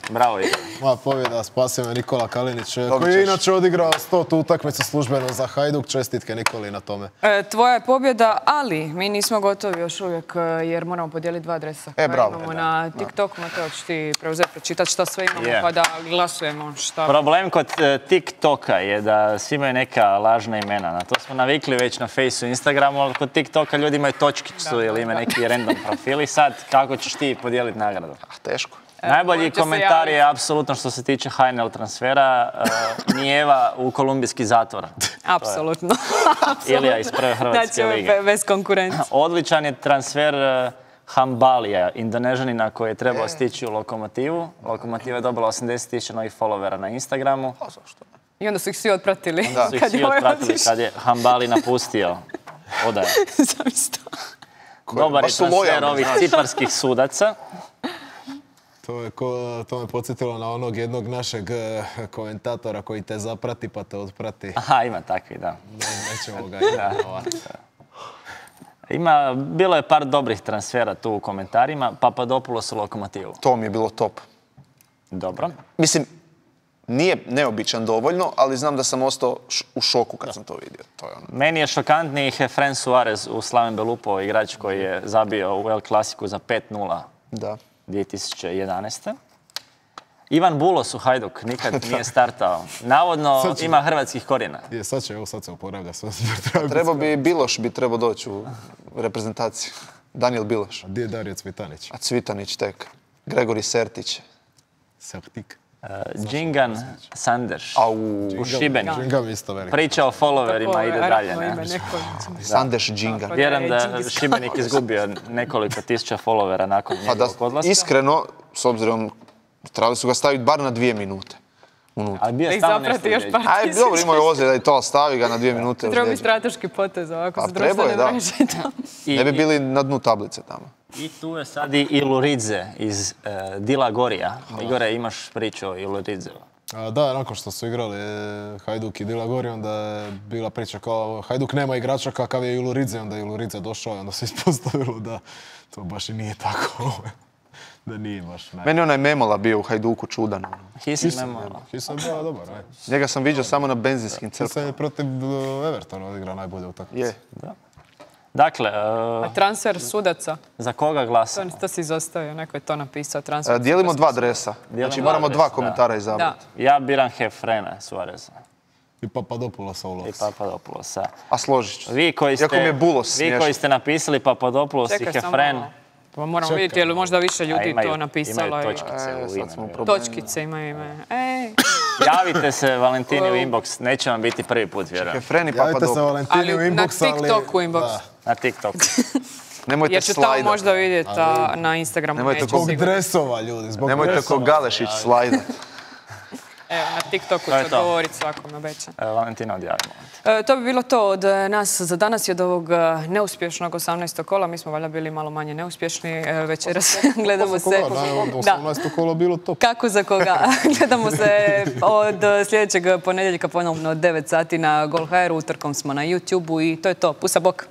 Bravo, Igor. Moja pobjeda, spasio me Nikola Kalinić, koji je inače odigrao 100 utakmicu službeno za Hajduk. Čestitke Nikoli na tome. Tvoja je pobjeda, ali mi nismo gotovi još uvijek jer moramo podijeliti 2 adresa. Bravo. Imamo na TikToku, Mateo, ćeš ti preuzeti, pročitati šta sve imamo pa da glasujemo šta. Problem kod TikToka je da svi imaju neka lažna imena. Na to smo navikli već na Faceu i Instagramu, ali kod TikToka ljudi imaju točkicu ili imaju neki random profili. Sad, kako ćeš ti podijeliti nagradu? Teško. Najbolji komentar je apsolutno što se tiče HNL transfera Nijeva u kolumbijski zatvor. Apsolutno. Ilija iz prve Hrvatske lige. Znači, bez konkurencije. Odličan je transfer Hambalija, Indonežanina koji je trebao stići u Lokomotivu. Lokomotiva je dobila 80.000 novih followera na Instagramu. I onda su ih svi otpratili. Su ih svi otpratili kad je Hambali napustio odaje. Dobar je transfer ovih ciparskih sudaca. To me podsjetilo na onog jednog našeg komentatora koji te zaprati pa te otprati. Aha, ima takvi, da. Nećemo ga imenovati. Bilo je par dobrih transfera tu u komentarima. Papadopoulos u Lokomotivu. To mi je bilo top. Dobro. Mislim, nije neobičan dovoljno, ali znam da sam ostao u šoku kad sam to vidio. Meni je šokantniji Efren Suarez u Slaven Belupo, igrač koji je zabio u El Clasiku za 5-0 2011. Ivan Bulos u Hajduk, nikad nije startao. Navodno ima hrvatskih korijena. Sad se oporavlja. Trebao bi Biloš trebao doći u reprezentaciju. Daniel Biloš. A gdje je Dario Cvitanić? A Cvitanić tek. Gregori Sertić. Sertik. Džingan Sanders u Šibeniku. Priča o followerima ide dalje. Sanders Džingan. Vjerujem da Šibenik izgubio nekoliko tisuća followera nakon njegovog odlaska. Iskreno, s obzirom, trebali su ga staviti bar na 2 minute. Ali bio je stalno nešto još par tisuća. Dobro, imao je ozljeda i to, stavi ga na 2 minute. Treba bi strateški potez ovako sa društvene mreže. Ne bi bili na dnu tablice tamo. I tu je sad i Iluridze iz Dila Gorija. Igore, imaš priču o Iluridzeu? Da, nakon što su igrali Hajduk i Dila Gori, onda je bila priča kao Hajduk nema igrača kakav je Iluridze, onda je Iluridze došao i onda se ispostavilo da to baš i nije tako. Da nije baš naj... Meni onaj Memola bio u Hajduku čudan. Hisam Memola. Hisam bio dobar, aj. Njega sam vidio samo na benzinskim crpama. Hisam je protiv Evertona odigrao najbolje utakmice. Je. Dakle... A transfer sudaca? Za koga glasa? To si izostavio, neko je to napisao. Transfer dijelimo 2 dresa. Znači moramo 2 komentara izabrati. Ja biram Efrena Suareza. I Papadopoulosa u Lovs. I Papadopoulosa. A složit ću. Vi koji ste napisali Papadopoulos i Efren... Pa moramo vidjeti, je li možda više ljudi to napisalo. Imaju točkice u imenu. Točkice imaju ime. Javite se Valentini u inbox, neće vam biti prvi put, vjerujem. Javite se Valentini u inbox, ali... Na TikToku inbox. Na TikToku. Nemojte slajdat. Jer ću tamo možda vidjeti na Instagramu. Zbog dresova, ljudi, zbog dresova. Nemojte ko Galešić slajdat. Evo, na TikToku ću odgovoriti svakom, obećam. Valentina, odjavimo. To bi bilo to od nas za danas i od ovog neuspješnog 18. kola. Mi smo valjda bili malo manje neuspješni. Večeras gledamo se... 18. kolo bilo top. Kako za koga? Gledamo se od sljedećeg ponedjeljka ponovno od 9 sati na Gol.hr. Utorkom smo na YouTube-u i to je to. Pusa bok!